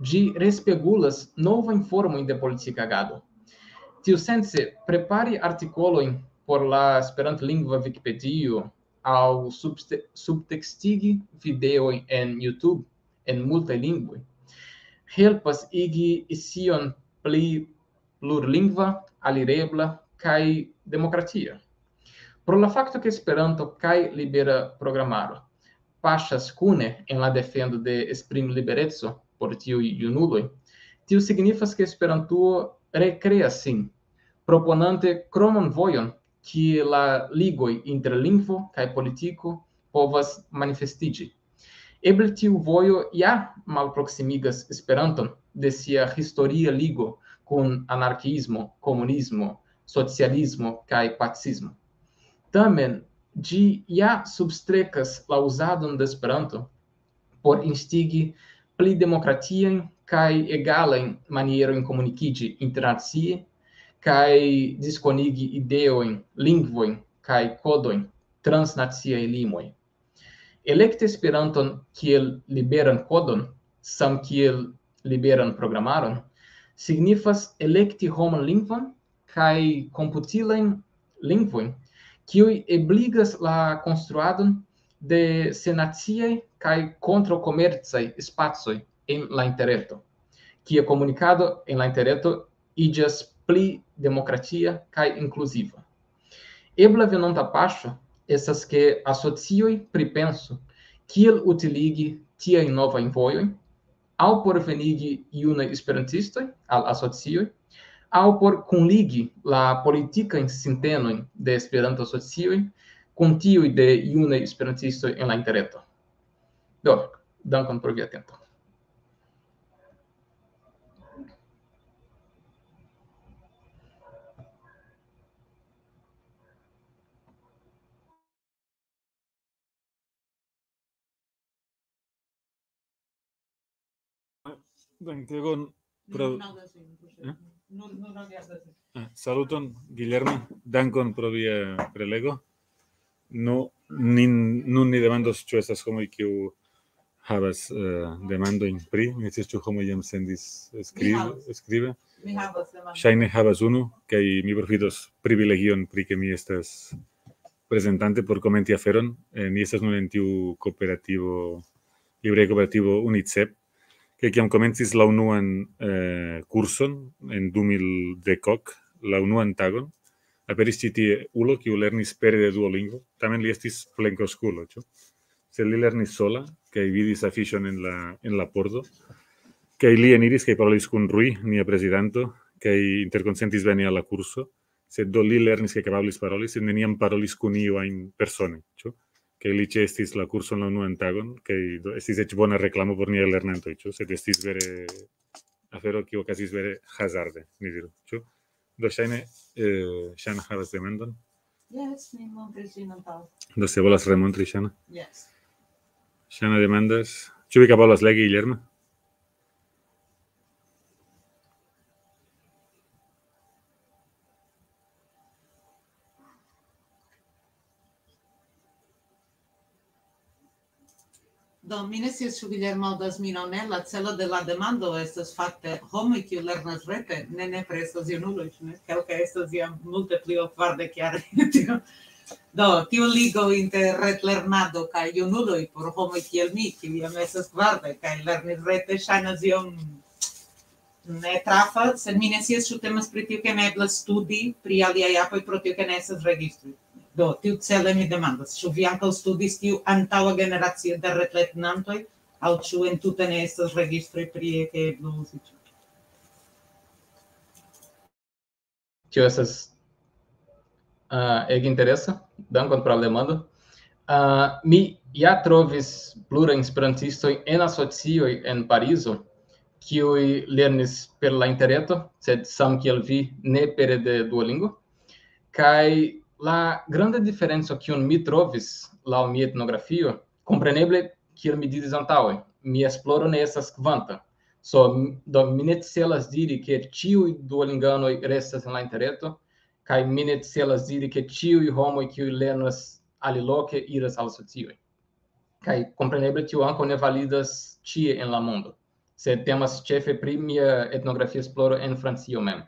Ĝi respegulas novajn formojn de politika agado. Tiusence, prepari artikolojn por la esperantlingva Vikipedio aŭ subste-, subtekstigi videojn en YouTube en multaj lingvoj helpas igi scion pli plurlingva, alirebla kaj demokratia. Pro la fakto, ke Esperanto kaj libera programaro paŝas kune en la defendo de esprimlibereco por tiuj junuloj, tio signifas, ke Esperantujo rekreas sin, proponante kroman vojon, kie la ligoj inter lingvo kaj politiko povas manifestiĝi. Eble tiu vojo ja malproksimigas Esperanton de sia historia ligo kun anarkiismo, komunismo, socialismo kaj pacismo. Tamen, ĝi ja substrekas la uzadon de Esperanto por instigi pli demokratiajn kaj egalajn manierojn komunikiĝi internacie kaj diskonigi ideojn, lingvojn kaj kodojn transnaciaj limoj. Elekti Esperanton kiel liberan kodon, samkiel liberan programaron, signifas elekti homan lingvon kaj komputilajn lingvojn, kiuj ebligas la konstruadon de senaciaj kaj kontraŭkomercaj spacoj en la interreto, kie komunikado en la interreto iĝas pli demokratia kaj inkluziva. Ebla venonta paŝo estas, ke asocioj pripensu, kiel utiligi tiajn novajn vojojn, aŭ por venigi junaj esperantistoj al asocioj, aŭ por kunligi la politikajn sintenojn de Esperanto-asocioj kun tiuj de junaj esperantistoj en la interreto. Do, dankon pro via tempo. Dankon pro... Eh? Ah, saluton, Guillermo. Dankon pro via prelego. Nu, nin, nun ni demandos, ĉu estas homoj, kiu havas, eh, demandojn pri, mi ne scias, ĉu homoj jam sendis skribe, Mi havas. Skribe. Mi havas demandon. Ŝajne havas unu, kaj mi profitos privilegion pri ke mi estas prezentante por komenti aferon. Eh, ni estas nun en tiu kooperativo, libreja kooperativo UNICEP, ke kiam komencis la unuan, eh, kurson en du mil dek, la unuan tagon, aperis ĉi tie ulo, kiu lernis pere de Duolingo, tamen li estis plenkreskulo, ĉu? Sed li lernis sola, kaj vidis afiŝon en la, en la pordo, kaj li eniris kaj parolis kun Rui, nia prezidanto, kaj interkonsentis veni al la kurso, sed do li lernis kaj kapablis paroli, sed neniam parolis kun iu ajn persone, ĉu? Kaj li ĉeestis la kurson la unuan tagon, kaj do estis eĉ bona reklamo por niaj lernantoj, ĉu? Sed estis vere afero, kiu okazis vere hazarde, ni diru, ĉu? Do ŝajne, eh, Ŝana havas demandon. Yes, mi montris ĝin antaŭ. Do se volas remontri, Ŝana. Yes. Ŝana demandas, ĉu vi kapablas legi, Guillermo? Do, mi ne scias, ĉu Guillermo aŭdas min aŭ ne. La celo de la demando estas fakte homoj, kiu lernas rete, ne nepre estas junuloj, ĉu ne? Kelkaj estas jam multe pli ol kvardek jaroj. Do, tiu ligo inter retlernado kaj junuloj por homoj kiel mi, kiu jam estas kvardek kaj lernis rete, ŝajnas iom ne trafa, sed mi ne scias, ĉu temas pri tio, ke ne eblas studi pri aliaj apoj, pro tio, ke ne estas registroj. Do, tiucele mi demandas, ĉu vi ankaŭ studis tiu antaŭa generacio de retlernantoj, aŭ ĉu entute ne estas registroj pri, ke eblo uzi ĝin? Tio estas, ah, ege interesa. Dankon pro la demando. Ah, mi ja trovis plurajn esperantistojn en asocioj en Parizo, kiuj lernis per la interreto, sed samkiel vi, ne pere de Duolingo. Kaj la granda diferenco, kiun mi trovis laŭ mia etnografio, kompreneble, kiel mi diris antaŭe, mia esploro ne estas kvanta. So, m-, do mi ne celas diri, ke ĉiuj Duolinganoj restas en la interreto, kaj mi ne celas diri, ke ĉiuj homoj, kiuj lernas aliloke, iras al asocioj. Kaj kompreneble tio ankaŭ ne validas ĉie en la mondo, sed temas ĉefe pri mia etnografia esploro en Francio mem.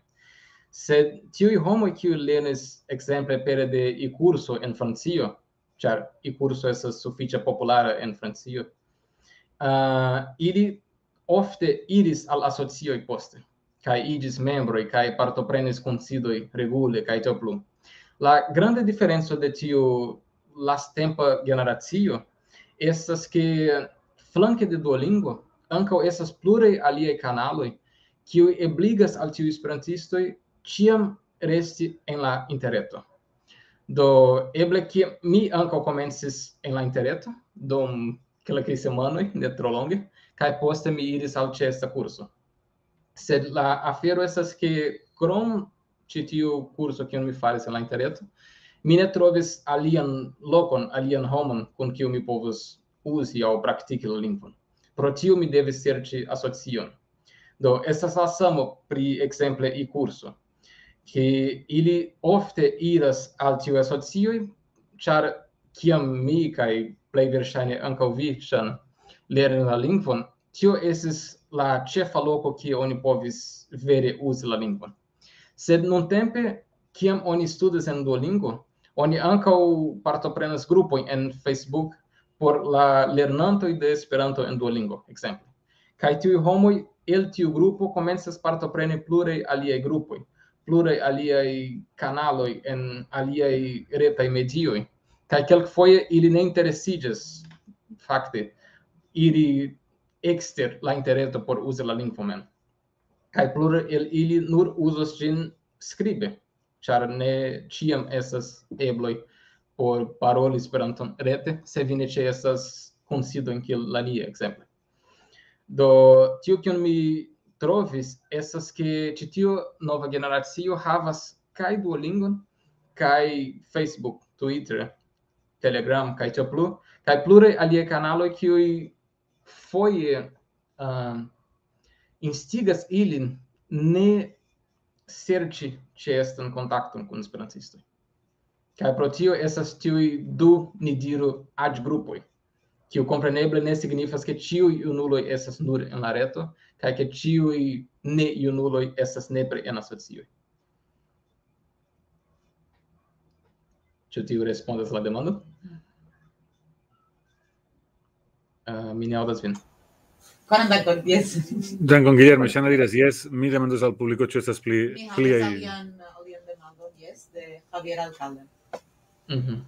Sed tiuj homoj, kiuj lernis ekzemple pere de e-kurso en Francio, ĉar e-kurso estas sufiĉe populara en Francio, ah, ili ofte iris al asocioj poste, kaj iĝis membroj, kaj partoprenis kunsidoj regule, kaj tiel plu. La granda diferenco de tiu lasttempa generacio estas, ke flanke de Duolingo ankaŭ estas pluraj aliaj kanaloj, kiuj ebligas al tiuj esperantistoj ĉiam resti en la interreto. Do, eble ke mi ankaŭ komencis en la interreto, dum kelkaj semajnoj, ne tro longe, kaj poste mi iris al ĉeesta kurso. Sed la afero estas, ke krom ĉi tiu kurso, kiun mi faris en la interreto, mi ne trovis alian lokon, alian homon, kun kiu mi povus uzi aŭ praktiki la lingvon. Pro tio mi devis serĉi asocion. Do, estas la samo pri, ekzemple, e-kurso, ke ili ofte iras al tiuj asocioj, ĉar kiam mi kaj plej verŝajne ankaŭ vi, Ŝan, lerni la lingvon, tio estis la ĉefa loko, kie oni povis vere uzi la lingvon. Sed nuntempe, kiam oni studas en Duolingo, oni ankaŭ partoprenas grupojn en Facebook por la lernantoj de Esperanto en Duolingo, ekzemple. Kaj tiuj homoj el tiu grupo komencas partopreni pluraj aliaj grupoj, pluraj aliaj kanaloj en aliaj retaj medioj. Kaj kelkfoje ili ne interesiĝas fakte iri ekster la interreto por uzi la lingvo mem. Kaj pluraj el ili nur uzas ĝin skribe, ĉar ne ĉiam estas ebloj por paroli Esperanton rete, se vi ne ĉeestas kunsidojn kiel la nia, ekzemple. Do, tio, kion mi trovis, estas, ke ĉi tiu nova generacio havas kaj Duolingon, kaj Facebook, Twitter, Telegram, kaj tiel plu, kaj pluraj aliaj kanaloj, kiuj foje, ah, instigas ilin ne serĉi ĉeestan kontakton kun esperantistoj. Kaj pro tio estas tiuj du, ni diru, aĝgrupoj, kiu kompreneble ne signifas, ke ĉiuj junuloj estas nur en la reto, kaj ke ĉiuj ne junuloj estas nepre en asocioj. Ĉu tiu respondas la demandon? Ah, mi ne aŭdas vin. Koran dankon, yes. Dankon, Guillermo. Ŝana diras, yes, mi demandos al publiko, ĉu estas pli, Mi pliaj. havas alian, alian demandon, yes, de Javier Alcalde. Mhm.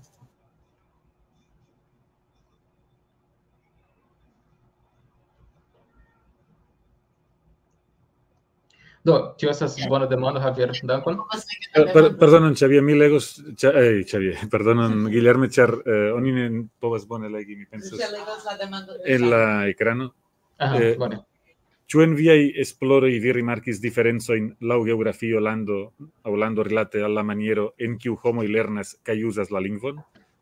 Do, tio estas bona demando, Javier. Dankon. Eh, per, perdonon, Xavier, mi legos, Xa- eh, Xavier, perdonon, Guillermo, ĉar eh, oni ne povas bone legi, mi pensas, Legos la demandon. En la ekrano. Aha, Eh, bone. Ĉu en viaj esploroj vi rimarkis diferencojn laŭ geografio, lando aŭ lando rilate al la maniero en kiu homoj lernas kaj uzas la lingvon?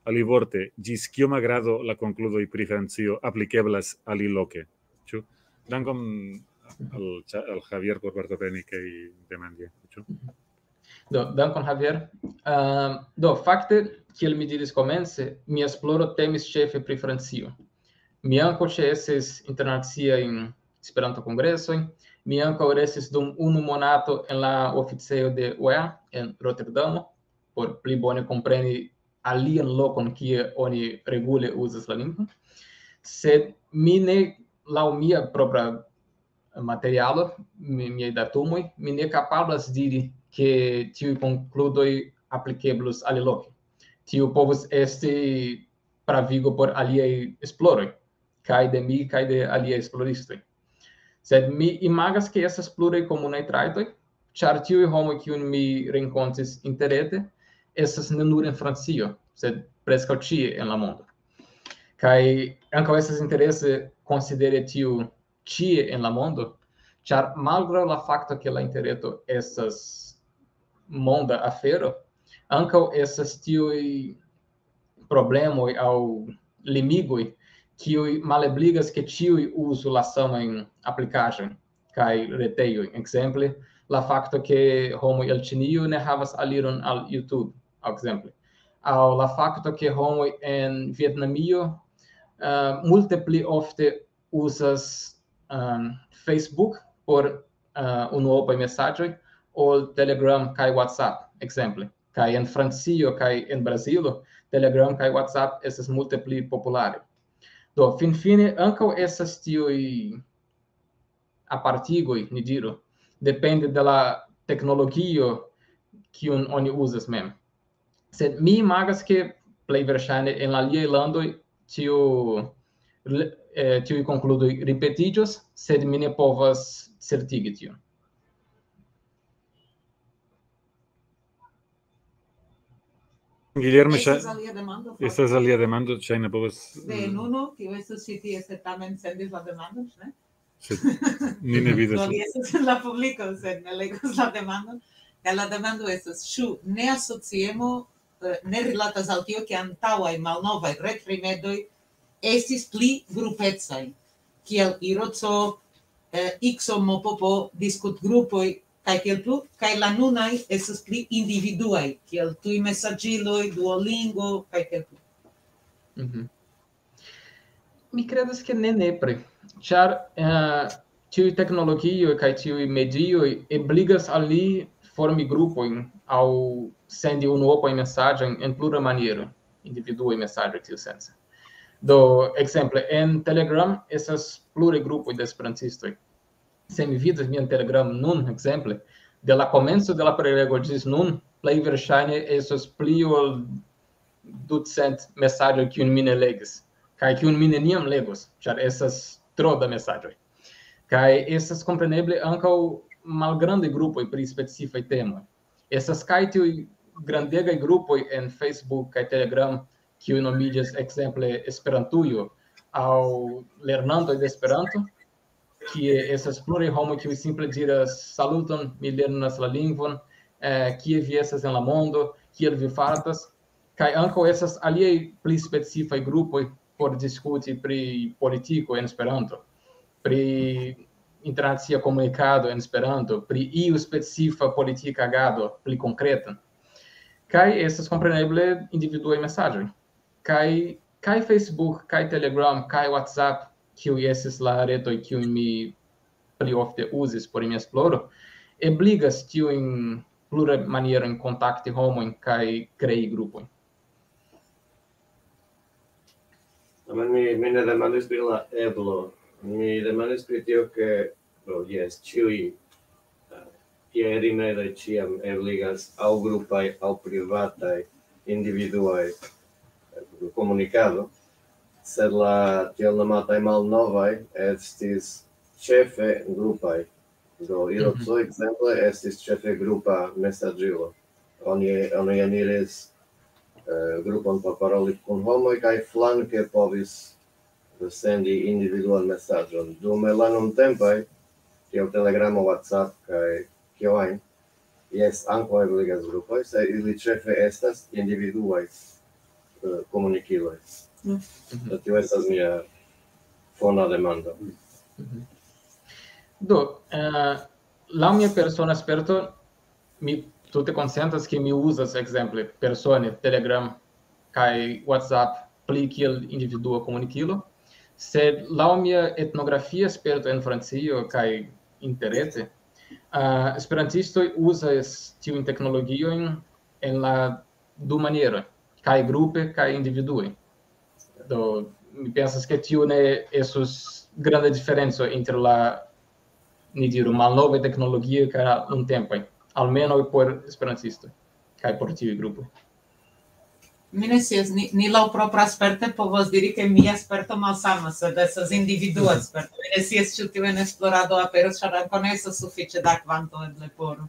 Alivorte, ĝis kioma grado la konkludoj pri Francio aplikeblas aliloke? Ĉu? Dankon al, Xa- al Javier por partopreni kaj demandi. Ĉu? Do, dankon, Javier. Ehm, do, fakte, kiel mi diris komence, mia esploro temis ĉefe pri Francio. Mi ankaŭ ĉeestis internaciajn Esperanto-kongresojn, mi ankaŭ restis dum unu monato en la oficejo de O E A en Roterdamo, por pli bone kompreni alian lokon, kie oni regule uzas la lingvon. Sed mi ne, laŭ mia propra materialo, mi- miaj datumoj, mi ne kapablas diri, ke tiuj konkludoj aplikeblus aliloke. Tio povus esti pravigo por aliaj esploroj, kaj de mi, kaj de aliaj esploristoj. Sed mi imagas, ke estas pluraj komunaj trajtoj, ĉar tiuj homoj, kiujn mi renkontis interrete, estas ne nur en Francio, sed preskaŭ ĉie en la mondo. Kaj ankaŭ estas interese konsideri tiu ĉie en la mondo, ĉar malgraŭ la fakto, ke la interreto estas monda afero, ankaŭ estas tiuj problemoj aŭ limigoj, kiuj malebligas, ke ĉiuj uzu la samajn aplikaĵojn kaj retejoj. Ekzemple, la fakto, ke homoj el Ĉinio ne havas aliron al YouTube, ekzemple. Aŭ la fakto, ke homoj en Vietnamio, eh, multe pli ofte uzas, ehm, Facebook por, eh, unuopaj mesaĝoj ol Telegram kaj WhatsApp, ekzemple. Kaj en Francio kaj en Brazilo, Telegram kaj WhatsApp estas multe pli popularaj. Do, finfine, ankaŭ estas tiuj apartigoj, ni diru, depende de la teknologio, kiun oni uzas mem. Sed mi imagas, ke plej verŝajne en la aliaj landoj tiu, eh, tiuj konkludoj ripetiĝos, sed mi ne povas certigi tion. Guillermo, Estas ŝa- alia demando. estas alia demando, ŝajne povas... De Nuno, kiu estos ĉi tie, sed tamen sendis la demandon, ne? Sed ni ne vidas. Do li estas en la publiko, sed ne legos la demandon. Kaj la demando estas, ĉu ne asociemo eh, ne rilatas al tio, ke antaŭaj malnovaj retrimedoj estis pli grupecaj, kiel Iroco, eh, Ikso, Mopopo, diskutgrupoj, kaj kiel plu, kaj la nunaj estas pli individuaj, kiel tuj mesaĝiloj, Duolingo, kaj kiel plu. Mhm. Mi credas ke ne nepre, ĉar eh, tiuj teknologioj kaj tiuj medioj ebligas al li formi grupojn aŭ sendi unuopajn mesaĝojn en plura maniero, individuaj mesaĝoj tiusence. Do, ekzemple, en Telegram estas pluraj grupoj de esperantistoj. Se mi vidas mian Telegram nun, ekzemple, de la komenco de la prelego ĝis nun, plej verŝajne estos pli ol ducent mesaĝoj, kiujn mi ne legis, kaj kiujn mi neniam legos, ĉar estas tro da mesaĝoj. Kaj estas kompreneble ankaŭ malgrandaj grupoj pri specifaj temoj. Estas kaj tiuj grandegaj grupoj en Facebook kaj Telegram, kiuj nomiĝas ekzemple Esperantujo aŭ lernantoj de Esperanto, kie estas pluraj homoj, kiuj simple diras: "Saluton, mi lernas la lingvon, eh, kie vi estas en la mondo, kiel vi fartas?" Kaj ankaŭ estas aliaj pli specifaj grupoj por diskuti pri politiko en Esperanto, pri internacia komunikado en Esperanto, pri iu specifa politika agado pli konkreta. Kaj estas kompreneble individuaj mesaĝoj. Kaj, kaj Facebook, kaj Telegram, kaj WhatsApp, kiuj estis la retoj, kiujn mi pli ofte uzis por mia esploro, ebligas tiujn pluraj manierojn kontakti homojn kaj krei grupojn. Tamen mi, mi ne demandis pri la eblo. Mi demandis pri tio, ke, do, jes, ĉiuj eh, tiaj rimedoj ĉiam ebligas aŭ grupaj, aŭ privataj, individuaj eh, komunikado, sed la tiel nomataj malnovaj estis ĉefe grupaj. Do, Iroco, ekzemple, estis ĉefe grupa mesaĝilo. Oni, oni eniris eh, grupon por paroli kun homoj kaj flanke povis sendi individuan mesaĝon. Dume la nuntempaj, kiel Telegramo, WhatsApp kaj kio ajn, jes, ankaŭ ebligas grupoj, se ili ĉefe estas individuaj eh, komunikiloj. Do tio estas mia fona demando. Do, eh, laŭ mia persona sperto, mi tute konsentas, ke mi uzas, ekzemple, persone Telegram kaj WhatsApp pli kiel individua komunikilo, sed laŭ mia etnografia sperto en Francio kaj interrete, eh, esperantistoj uzas tiujn teknologiojn en la du manieroj, kaj grupe, kaj individue. Do, mi pensas, ke tio ne estus granda diferenco inter la, ni diru, malnovaj teknologioj kaj la nuntempaj, almenaŭ por esperantistoj, kaj por tiuj grupoj. Mi ne scias, ni, ni laŭ propra sperte povas diri, ke mia sperto malsamas, sed estas individua sperto. Mi ne scias, ĉu tiu en esplorado aperos, ĉar ankaŭ ne estas sufiĉe da kvanto eble por.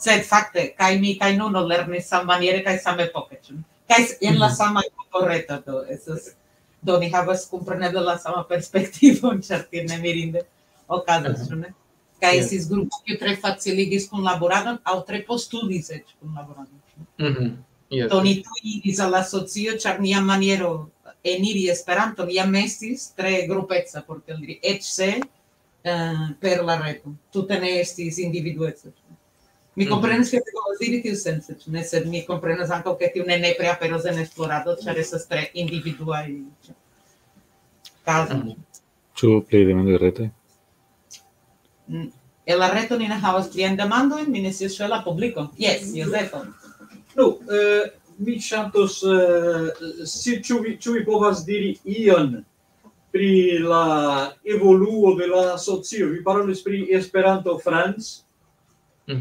Sed fakte, kaj mi kaj Nuno lernis sammaniere kaj samepoke, ĉu? Kaj s- en la sama grupo reta, do estas, do ni havas kompreneble la sama perspektivon, ĉar tiel ne mirinde okazas, ĉu ne? Kaj estis grupo, kiu tre faciligis kunlaboradon, aŭ tre postulis eĉ kunlaboradon. Mhm. Yes. Do ni tuj iris al la asocio, ĉar nia maniero eniri Esperanton jam estis tre grupeca, por tiel diri, eĉ se eh, per la reto. Tute ne estis individueco. Mi komprenas, ke vi povas diri tiusence, ĉu ne, sed mi komprenas ankaŭ, ke tiu ne nepre aperos en esplorado, ĉar estas tre individuaj kazoj. Ĉu pli demandoj rete? Mm, En la reto ni ne havas pliajn demandojn, mi ne scias, ĉu en la publiko. Jes, Jozefo. Nu, eh, mi ŝatus, eh, si, ĉu vi, ĉu vi povas diri ion pri la evoluo de la asocio? Vi parolis pri Esperanto France,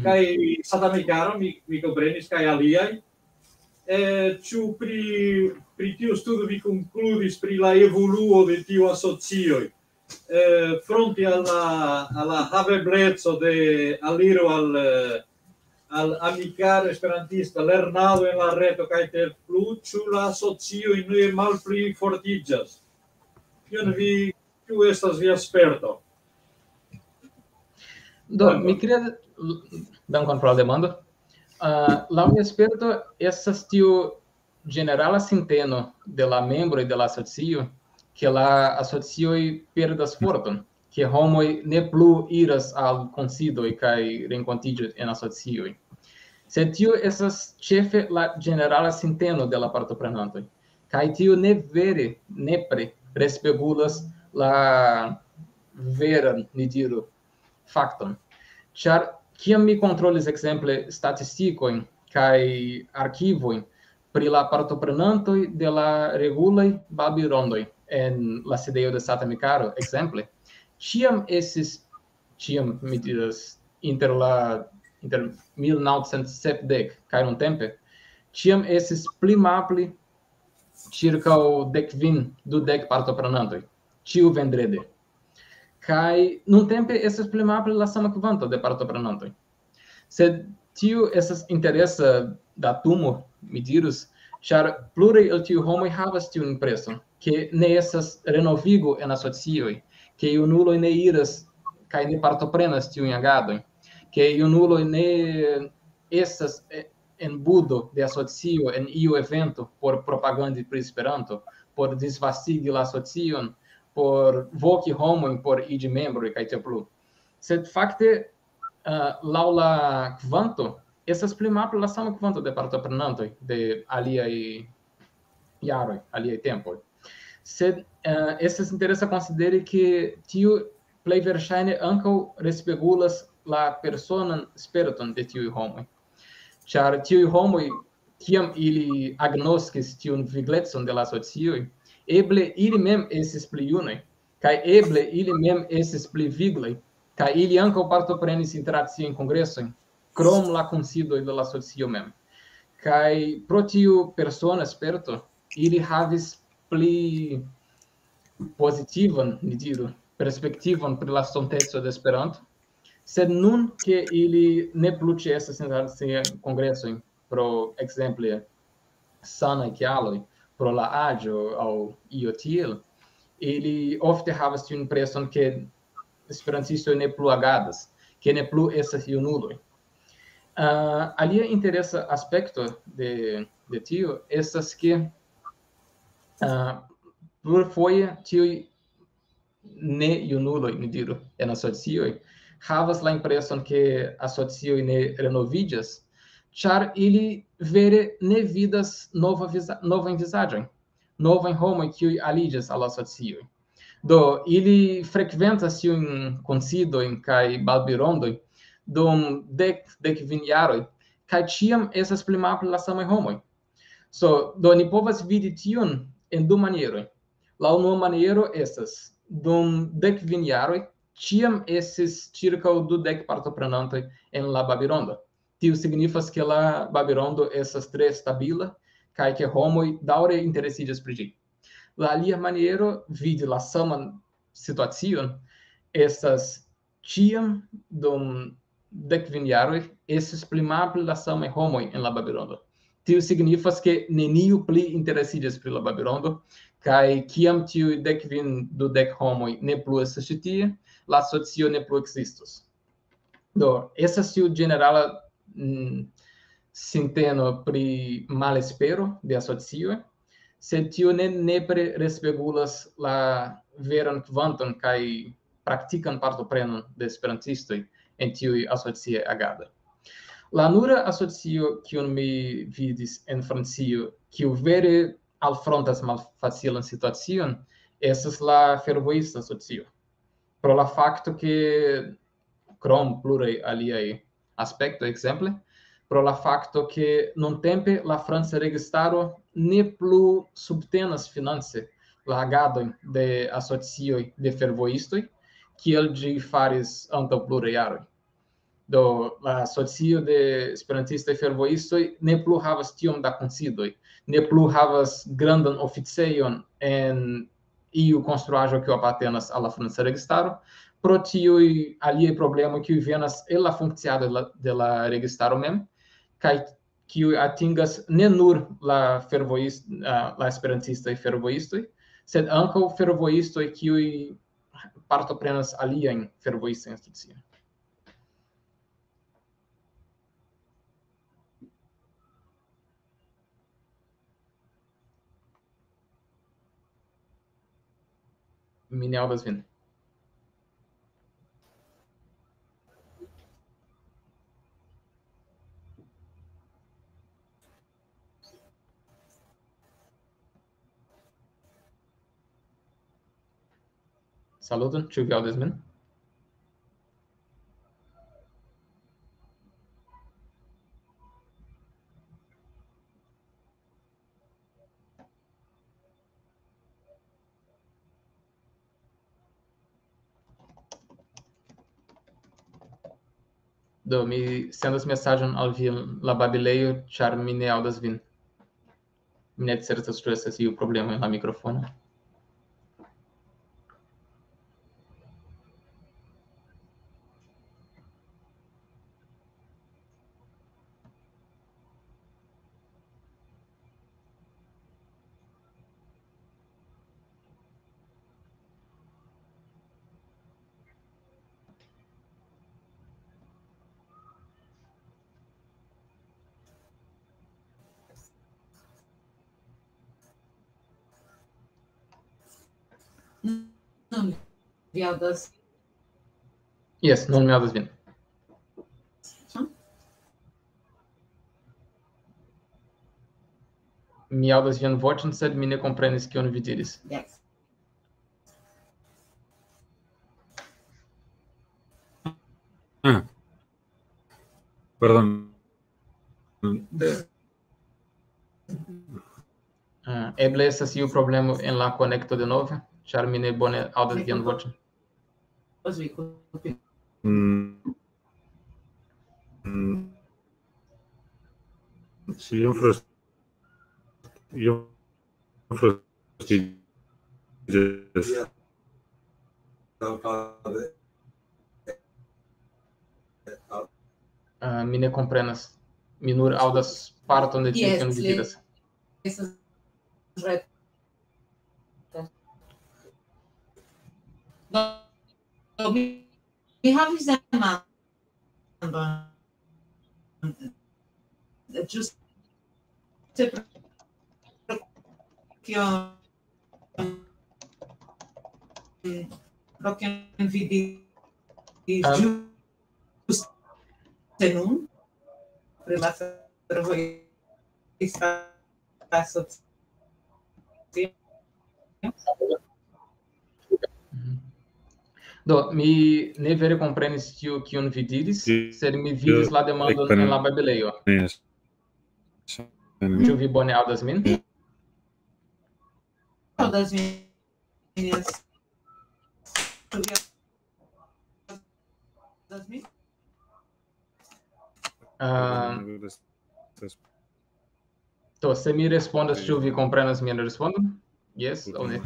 kaj Satamikaro, mi, mi komprenis, kaj aliaj. Eh, ĉu pri, pri tiu studo vi konkludis pri la evoluo de tiu asocioj? Eh, fronte al la, al la havebleco de aliro al, eh, al Amikaro Esperantista, lernado en la reto kaj tiel plu, ĉu la asocioj ne malpli fortiĝas? Kion vi, kiu estas via sperto? Do, mi kredas, dankon pro la demando. Uh, laŭ mia sperto estas tiu ĝenerala sinteno de la membroj de la asocio, ke la asocioj perdas forton, ke homoj ne plu iras al kunsidoj kaj renkontiĝoj en asocioj. Sed tio estas ĉefe la ĝenerala sinteno de la partoprenantoj, kaj tio ne vere, nepre respegulas la veran, ni diru, fakton. Ĉar kiam mi kontrolis ekzemple statistikojn kaj arkivojn pri la partoprenantoj de la regulaj babilrondoj en la sidejo de Sata Mikaro, ekzemple, ĉiam estis, ĉiam, mi diras, inter la, inter mil naŭcent sepdek kaj nuntempe, ĉiam estis pli malpli ĉirkaŭ dek kvin, dudek partoprenantoj, ĉiu vendrede. Kaj nuntempe estas pli malpli la sama kvanto de partoprenantoj. Sed tiu estas interesa datumo, mi dirus, ĉar pluraj el tiuj homoj havas tiun impreson, ke ne estas renovigo en asocioj, ke junuloj ne iras kaj ne partoprenas tiujn agadojn, ke junuloj ne estas, eh, en budo de asocio en iu evento por propagandi pri Esperanto, por disvastigi la asocion, por voki homojn por iĝi membroj kaj tiel plu. Sed fakte, eh, laŭ la kvanto, estas pli malpli la sama kvanto de partoprenantoj de aliaj jaroj, aliaj tempoj. Sed, eh, estas interesa konsideri, ke tiu plej verŝajne ankaŭ respegulas la personan sperton de tiuj homoj. Ĉar tiuj homoj, kiam ili agnoskis tiun viglecon de la asocioj, eble ili mem estis pli junaj, kaj eble ili mem estis pli viglaj, kaj ili ankaŭ partoprenis interakciajn kongresojn, krom la kunsidoj de la asocio mem. Kaj pro tiu persona sperto, ili havis pli pozitivan, ni diru, perspektivon pri la estonteco de Esperanto, sed nun, ke ili ne plu ĉeestas en kongresojn pro, ekzemple, sanaj kialoj, pro la aĝo aŭ io tiel, ili ofte havas tiun impreson, ke esperantistoj ne plu agadas, ke ne plu estas junuloj. Uh, alia interesa aspekto de, de tio estas, ke, uh, plurfoje tiuj ne junuloj, ni diru, en asocioj, havas la impreson, ke asocioj ne renoviĝas, ĉar ili vere ne vidas nova viza-, novajn vizaĝojn, novajn homojn, kiuj aliĝas al asocioj. Do, ili frekventas tiujn kunsidojn kaj babilrondojn dum dek, dek kvin jaroj, kaj ĉiam estas pli malpli la samaj homoj. So, do, ni povas vidi tion en du manieroj. La unua maniero estas, dum dek kvin jaroj, ĉiam estis ĉirkaŭ dudek partoprenantoj en la babilrondo. Tio signifas, ke la babilrondo estas tre stabila, kaj ke homoj daŭre interesiĝas pri ĝi. La alia maniero vidi la saman situacion estas, ĉiam dum dek kvin jaroj estis pli malpli la samaj homoj en la babilrondo. Tio signifas, ke neniu pli interesiĝas pri la babilrondo, kaj kiam tiuj dek kvin, dudek homoj ne plu estas ĉi tie, la asocio ne plu ekzistos. Do, estas tiu ĝenerala, mm, sinteno pri malespero de asocioj, sed tio ne nepre respegulas la veran kvanton kaj praktikan partoprenon de esperantistoj en tiuj asociaj agadoj. La nura asocio, kiun mi vidis en Francio, kiu vere alfrontas malfacilan situacion, estas la fervojista asocio. Pro la fakto, ke krom pluraj aliaj aspektoj, ekzemple, pro la fakto, ke nuntempe la franca registaro ne plu subtenas finance la agadojn de asocioj de fervojistoj, kiel ĝi faris antaŭ pluraj jaroj. Do, la asocio de esperantistaj fervojistoj ne plu havas tiom da kunsidoj, ne plu havas grandan oficejon en iu konstruaĵo, kiu apartenas al la franca registaro, pro tiuj aliaj problemoj, kiuj venas el la funkciado de la, de la registaro mem, kaj kiuj atingas ne nur la fervojist-, ah, la esperantistaj fervojistoj, sed ankaŭ fervojistoj, kiuj partoprenas aliajn fervojistajn instituciojn. Mi ne aŭdas vin. Saluton, ĉu vi aŭdas min? Do, mi sendas mesaĝon al vi en la babilejo, ĉar mi ne aŭdas vin. Mi ne certas, ĉu estas iu problemo en la mikrofono. Nun vi aŭdas? Jes, nun mi aŭdas vin. Mi aŭdas vian voĉon, sed mi ne komprenis, kion vi diris. Yes. Ah. Pardon. Eh, Ah, eble estas iu problemo en la konekto denove, ĉar mi ne bone aŭdas vian voĉon. Os vi kulpi. Mm. Mm. Sí, yo ofrezco, yo ofrezco Ah, mi ne komprenas. Mi nur aŭdas parton de tio, Yes, kion vi le- diras. Estas ret. Do, do, mi, mi havis demandon. Ĝuste pro kio, pro kion vi diris Ah. ĝuste nun pri la fervojista asocio. Mhm. Do, mi ne vere komprenis tio, kion vi diris, Sí, sed mi vidis yo la demandon ekpren- en la babilejo. Yes. Ĉu vi bone aŭdas min? Aŭdas min? Yes. Ĉu vi aŭdas min? Ah, do, se mi respondas, ĉu vi komprenas mian respondon? Jes aŭ ne?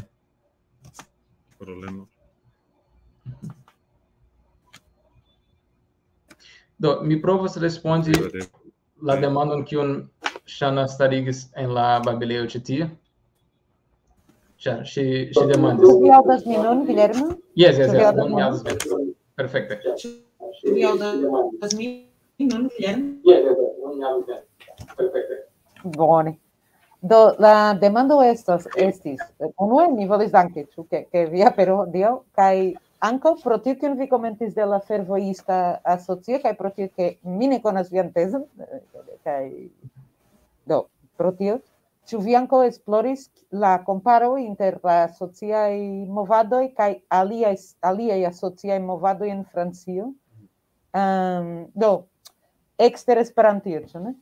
Problema. Do, mi provas respondi Vale. La demandon, kiun Ŝana starigis en la babilejo ĉi tie. Ĉar ŝi, ŝi demandis. Ĉu vi aŭdas min nun, Guillermo? Jes, jes, Ĉu vi jes, aŭdas nun mi min? Aŭdas vin. Perfekte. Ĉu vi aŭdas min nun, Guillermo? Bone. Do, la demando estas, estis, eh, unue, mi volis danki, ĉu ke, ke vi apero, Dio, kaj ankaŭ pro tio, kion vi komentis de la fervojista asocio, kaj pro tio, ke mi ne konas vian tezon, eh, kaj, do, pro tio, ĉu vi ankaŭ esploris la komparo inter la sociaj movadoj kaj aliaj, aliaj asociaj movadoj en Francio? Ehm, do, ekster Esperantio, ĉu ne?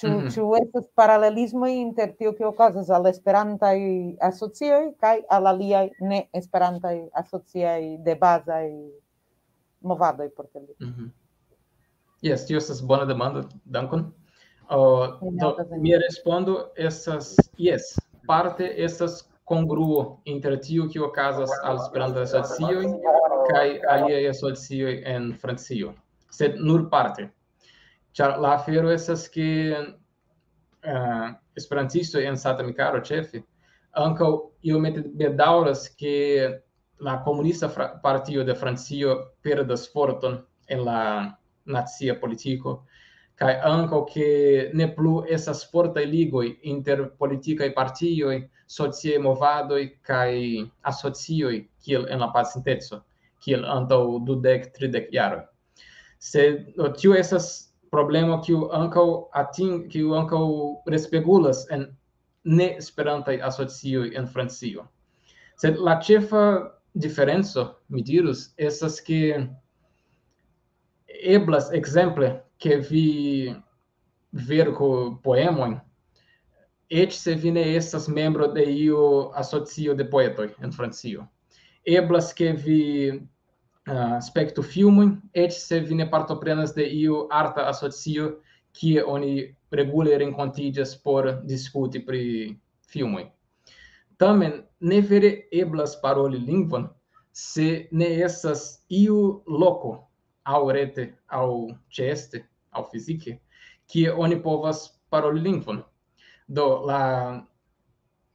Ĉu, Mhm. ĉu estas paralelismoj inter tio, kio okazas al esperantaj asocioj kaj al aliaj ne esperantaj asociaj de bazaj movadoj por tio? Mhm. Jes, tio estas bona demando, dankon. Uh, Mi do, aŭdas vin. Mia respondo estas, jes, parte estas kongruo inter tio, kio okazas al Esperanto-asocioj kaj aliaj asocioj en Francio, sed nur parte. Ĉar la afero estas, ke, eh, esperantistoj en Santa Mikaro, ĉefe, ankaŭ iomete bedaŭras, ke la komunista fra-, partio de Francio perdas forton en la nacia politiko, kaj ankaŭ, ke ne plu estas fortaj ligoj inter politikaj partioj sociaj movadoj kaj asocioj kiel en la pasinteco, kiel antaŭ dudek, tridek jaroj. Sed, do, tio estas problemo kiu ankaŭ ating-, kiu ankaŭ respegulas en ne-esperantaj asocioj en Francio. Sed la ĉefa diferenco, mi dirus, estas ke eblas, ekzemple, ke vi verku poemojn, eĉ se vi ne estas membro de iu asocio de poetoj en Francio. Eblas ke vi, ah, spektu filmojn, eĉ se vi ne partoprenas de iu arta asocio, kie oni regule renkontiĝas por diskuti pri filmoj. Tamen, ne vere eblas paroli lingvon, se ne estas iu loko, aŭ rete, aŭ ĉeeste, aŭ fizike, kie oni povas paroli lingvon. Do, la,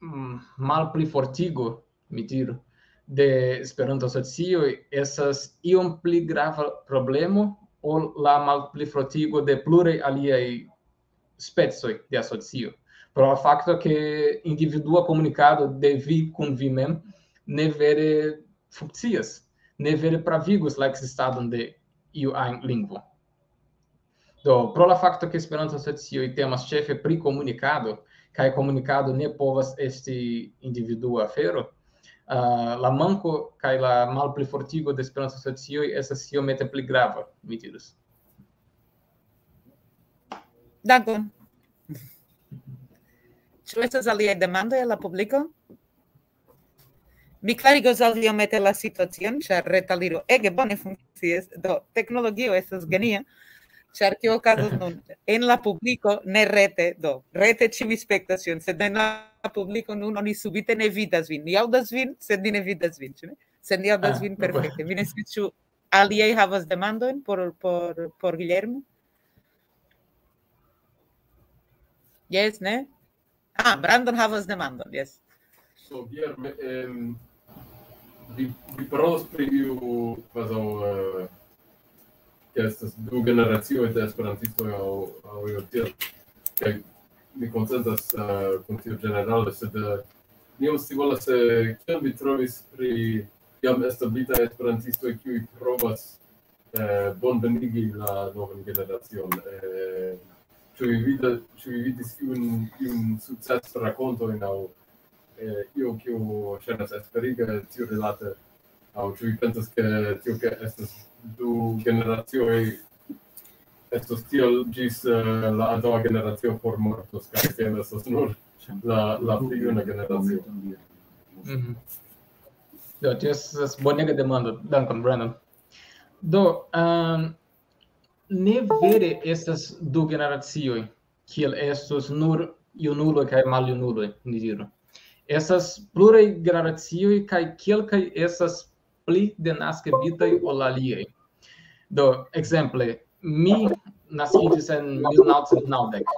mm, malplifortigo, mi diru, de Esperanto-asocioj estas iom pli grava problemo ol la malplifortigo de pluraj aliaj specoj de asocio. Pro la fakto, ke individua komunikado de vi kun vi mem ne vere funkcias, ne vere pravigus la ekzistadon de iu ajn lingvo. Do, pro la fakto, ke Esperanto-asocioj temas ĉefe pri komunikado, kaj komunikado ne povas esti individua afero, ah, la manko kaj la malplifortigo de Esperanto-asocioj estas iomete pli grava, mi dirus. Dankon. Ĉu estas aliaj demandoj el la publiko? Mi klarigos al vi iomete la situacion, ĉar retaliro ege bone funkcias. Do, teknologio estas genia, ĉar kio okazas nun en la publiko, ne rete, do, rete ĉiuj spektas tion, sed en la publiko nun oni subite ne vidas vin. Ni aŭdas vin, sed ni ne vidas vin, ĉu ne? Sed ni aŭdas Ah, vin no, bueno. Perfekte. Mi ne scias, ĉu aliaj havas demandojn por, por, por Guillermo? Jes, ne? Ah, Brandon havas demandon, jes. So, Guillermo, em, vi, vi parolas pri iu kvazaŭ, eh, ke estas du generacioj de esperantistoj aŭ, aŭ io tiel. Kaj mi konsentas, eh, kun tio ĝenerale, sed, eh, mi iom scivolas, eh, kion vi trovis pri jam establitaj esperantistoj, kiuj provas, eh, bonvenigi la novan generacion. Eh, ĉu vi vida-, ĉu vi vidis iun, iun sukcesrakontojn aŭ, eh, io, kiu ŝajnas esperiga tiurilate? Aŭ ĉu vi pensas, ke tio, ke estas du generacioj, estos tiel ĝis, eh, la antaŭa generacio formortos, kaj tiam estos nur la, la pli juna generacio? Mhm. Do, tio estas bonega demando. Dankon, Brandon. Do, ehm, ne vere estas du generacioj, kiel estos nur junuloj kaj maljunuloj, ni diru. Estas pluraj generacioj, kaj kelkaj estas pli denaskibitaj ol aliaj. Do, ekzemple, mi naskiĝis en mil naŭcent naŭdek,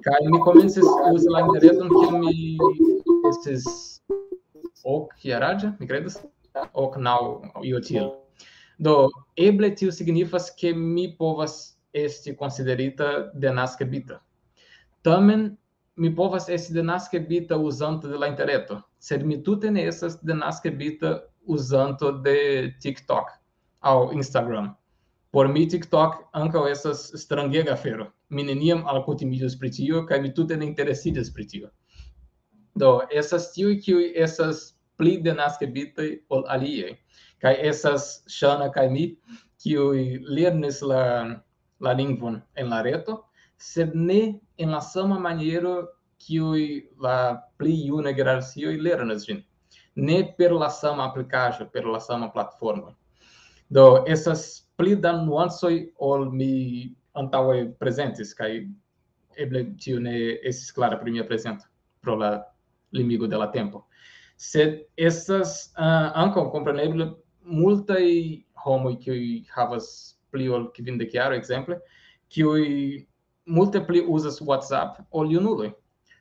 kaj mi komencis uzi la interreton, kiam mi estis ok jaraĝa, mi kredas, ok, naŭ, io tiel. Do, eble tio signifas, ke mi povas esti konsiderita denaskebita. Tamen, mi povas esti denaskebita uzanto de la interreto, sed mi tute ne estas denaskebita uzanto de TikTok aŭ Instagram. Por mi TikTok ankaŭ estas strangega afero. Mi neniam alkutimiĝis pri tio, kaj mi tute ne interesiĝas pri tio. Do, estas tiuj, kiuj estas pli denaskebitaj ol aliaj. Kaj estas Ŝana kaj mi, kiuj lernis la, la lingvon en la reto, sed ne en la sama maniero, kiuj la pli juna generacioj lernas ĝin. Ne per la sama aplikaĵo, per la sama platformo. Do, estas pli da nuancoj ol mi antaŭe prezentis, kaj eble tio ne estis klara pri mia prezento pro la limigo de la tempo. Sed estas, ah, ankaŭ kompreneble multaj homoj, kiuj havas pli ol kvindek jaroj, ekzemple, kiuj multe pli uzas WhatsApp ol junuloj.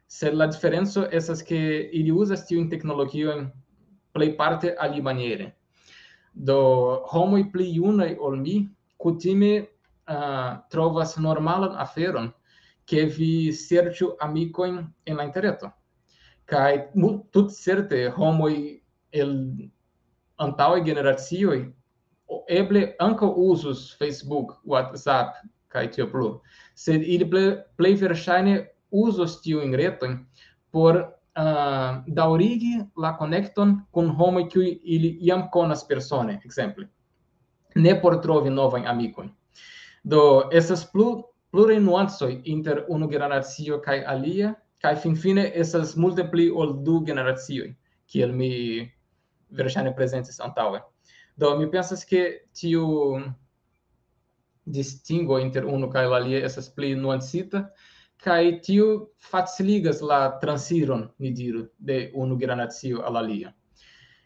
Sed la diferenco estas, ke ili uzas tiujn teknologiojn plejparte alimaniere. Do, homoj pli junaj ol mi kutime, ah, trovas normalan aferon, ke vi serĉu amikojn en la interreto. Kaj mu-, tutcerte homoj el antaŭaj generacioj o-, eble ankaŭ uzus Facebook, WhatsApp, kaj tio plu. Sed ili ple-, plej verŝajne uzos tiujn retojn por, ah, daŭrigi la konekton kun homoj, kiuj ili jam konas persone, ekzemple. Ne por trovi novajn amikojn. Do, estas plu-, pluraj nuancoj inter unu generacio kaj alia, kaj finfine estas multe pli ol du generacioj, kiel mi verŝajne prezentis antaŭe. Do, mi pensas, ke tiu distingo inter unu kaj la alia estas pli nuancita, kaj tiu faciligas la transiron, ni diru, de unu generacio al alia.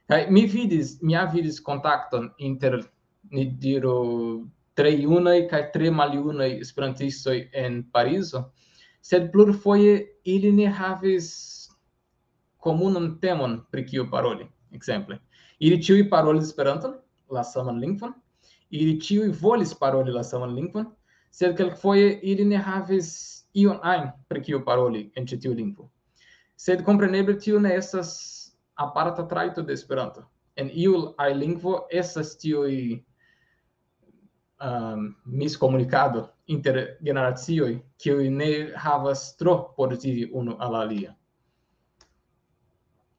Kaj mi vidis, mi ja vidis kontakton inter, ni diru, tre junaj kaj tre maljunaj esperantistoj en Parizo, sed plurfoje ili ne havis komunan temon, pri kiu paroli, ekzemple. Ili ĉiuj parolis Esperanton, la saman lingvon, ili ĉiuj volis paroli la saman lingvon, sed kelkfoje ili ne havis ion ajn, pri kiu paroli en ĉi tiu lingvo. Sed kompreneble tio ne estas aparta trajto de Esperanto. En iu ajn lingvo estas tiuj, um, miskomunikado inter generacioj, kiuj ne havas tro por diri unu al alia.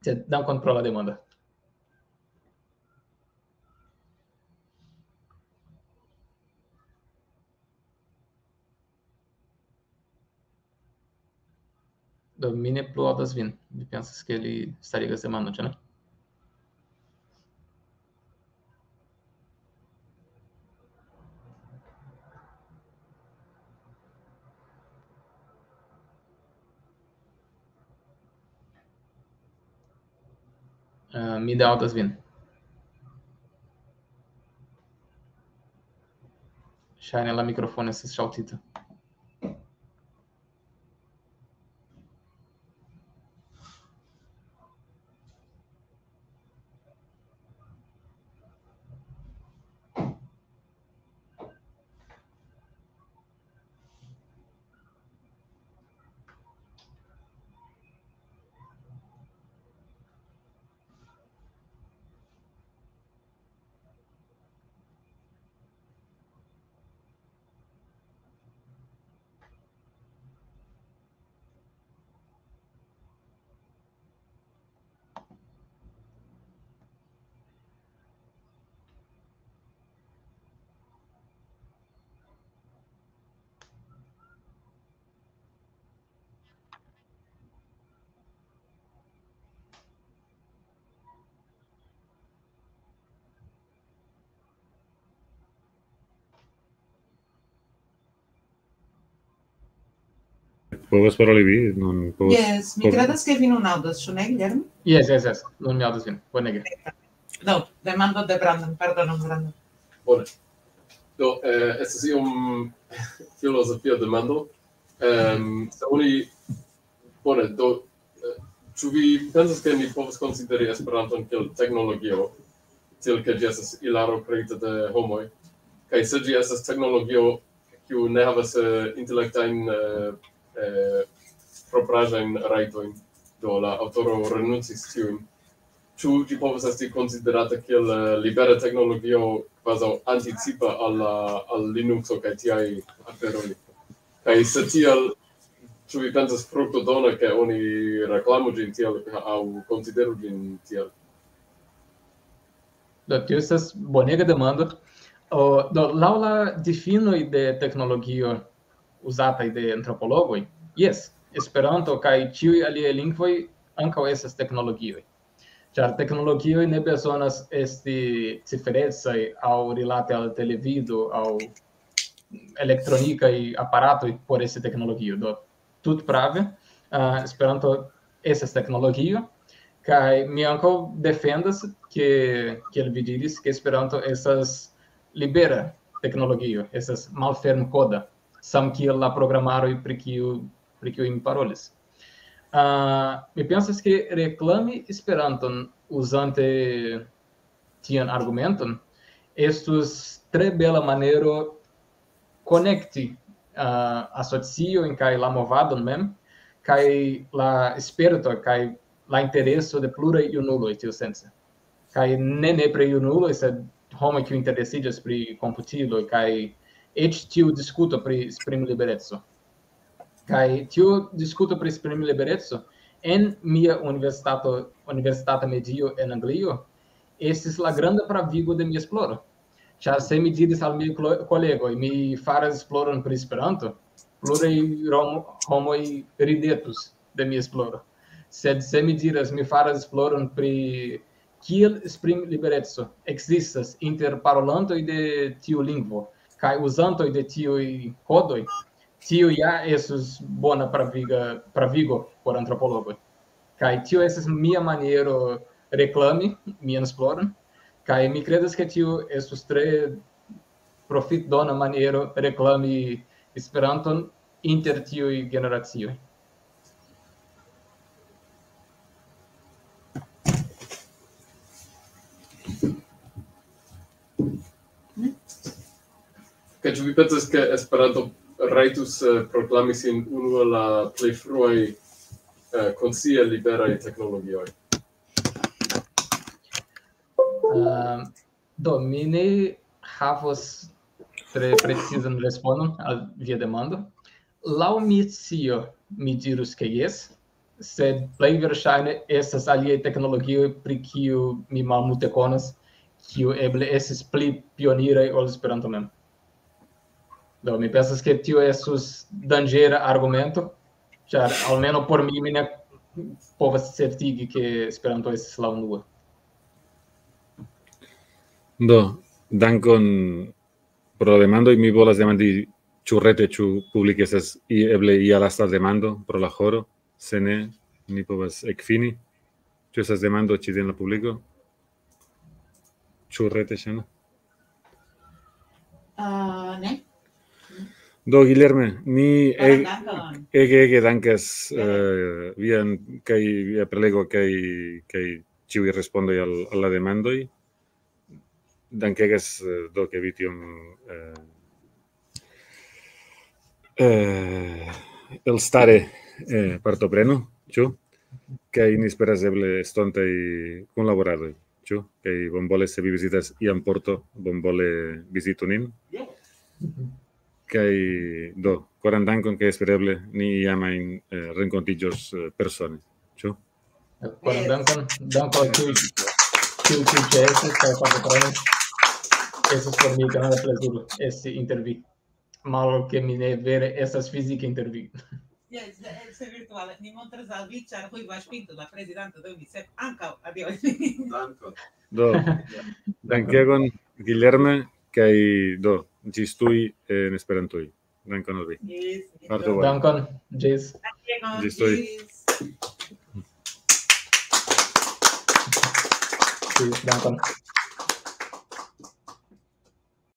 Sed dankon pro la demando. Do, mi ne plu aŭdas vin. Mi pensas, ke li starigas demandon, ĉu ne? Eh, mi ne aŭdas vin. Ŝajne la mikrofono estas ŝaltita. Povas paroli vi? Non povas. Yes, mi credas, ke vi nun aŭdas, ĉu ne, Guillermo? Yes, yes, yes. Nun mi aŭdas vin. Bonege. Do, demando de Brandon, pardonon, Brandon. Bone. Do, eh, estas iom filozofia demando. Ehm, se oni, bone, do, eh, ĉu vi pensas, ke mi povas konsideri Esperanton kiel teknologio, tiel ke ĝi estas ilaro kreita de homoj? Kaj se ĝi estas teknologio, kiu ne havas, eh, intelektajn, eh, eh, propraĵajn rajtojn, do la aŭtoro renuncis tiujn. Ĉu ĝi povas esti konsiderata kiel, eh, libera teknologio, kvazaŭ anticipa al la, al Linuxo kaj tiaj aferoj? Kaj se tiel, ĉu vi pensas fruktodona, ke oni reklamu ĝin tiel aŭ konsideru ĝin tiel? Do, tio estas bonega demando. O, do, laŭ la difinoj de teknologio uzataj de antropologoj, jes, Esperanto kaj ĉiuj aliaj lingvoj ankaŭ estas teknologioj. Ĉar teknologioj ne bezonas esti ciferecaj aŭ rilate al televido aŭ elektronikaj aparatoj por esti teknologio. Do, tut prave, ah, Esperanto estas teknologio, kaj mi ankaŭ defendas, ke, kiel vi diris, ke Esperanto estas libera teknologio, estas malfermkoda, samkiel la programaroj, pri kiu, pri kiuj mi parolis. Ah, mi pensas, ke reklami Esperanton uzante tian argumenton estus tre bela maniero konekti, ah, asociojn kaj la movadon mem, kaj la sperto kaj la intereso de pluraj junuloj tiusence. Kaj ne nepre junuloj, sed homoj, kiuj interesiĝas pri komputiloj, kaj eĉ tiu diskuto pri esprimlibereco. Kaj tiu diskuto pri esprimlibereco en mia universitato, universitata medio en Anglio estis la granda pravigo de mia esploro. Ĉar se mi diris al miaj klo-, kolegoj, mi faras esploron pri Esperanto, pluraj rom-, homoj ridetus de mia esploro. Sed se mi diras, mi faras esploron pri kiel esprimlibereco ekzistas inter parolantoj de tiu lingvo kaj uzantoj de tiuj kodoj, tio ja estus bona praviga, pravigo por antropologoj. Kaj tio estas mia maniero reklami mian esploron, kaj mi kredas, ke tio estus tre profitdona maniero reklami Esperanton inter tiuj generacioj. Kaj ĉu vi pensas, ke Esperanto rajtus, eh, proklami sin unu el la plej fruaj, eh, konscie liberaj teknologioj? Ah, do, mi ne havos tre precizan respondon al via demando. Laŭ mia scio, mi dirus, ke jes, sed plej verŝajne estas aliaj teknologioj, pri kiu mi malmulte konas, kiu eble estis pli pioniraj ol Esperanto mem. Do, mi pensas, ke tio estus danĝera argumento, ĉar almenaŭ por mi, mi ne povas certigi, ke Esperanto estis la unua. Do, dankon pro la demandoj. Mi volas demandi, ĉu rete, ĉu publike estas i-, eble ia lasta demando pro la horo. Se ne, ni povas ekfini. Ĉu estas demando ĉi en la publiko? Ĉu rete, Ŝana? Ah, ne? Do, Guilherme, ni Koran eg-, dankon. ege, ege dankas, Ja. eh, vian kaj via prelego kaj, kaj ĉiuj respondoj al, al la demandoj. Dankegas, eh, do, ke vi tiom, eh, eh, elstare, eh, partoprenu, ĉu? Kaj ni esperas eble estontaj kunlaboradoj, ĉu? Kaj bonvole, se vi vizitas iam Porto, bonvole vizitu nin. Kaj do, koran dankon, kaj espereble ni iam ajn, eh, renkontiĝos, eh, persone, ĉu? Koran dankon, dankon al tiuj, tiuj, kiuj ĉeestis kaj partoprenis. Estis por mi granda plezuro esti inter vi. Malofte, ke mi ne vere estas fizike inter vi. Yes, ese virtuale. Ni montras al vi, ĉar Rui Vaz Pinto, la prezidanto de UNICEF, ankaŭ adiaŭ. Dankon. Do, dankegon, Guilherme, kaj do, ĝis tuj en Esperantuj. Dankon al vi. Yes. Parto bone. Dankon, ĝis, Dankon. Ĝis tuj. Ĝis. ĝis, dankon.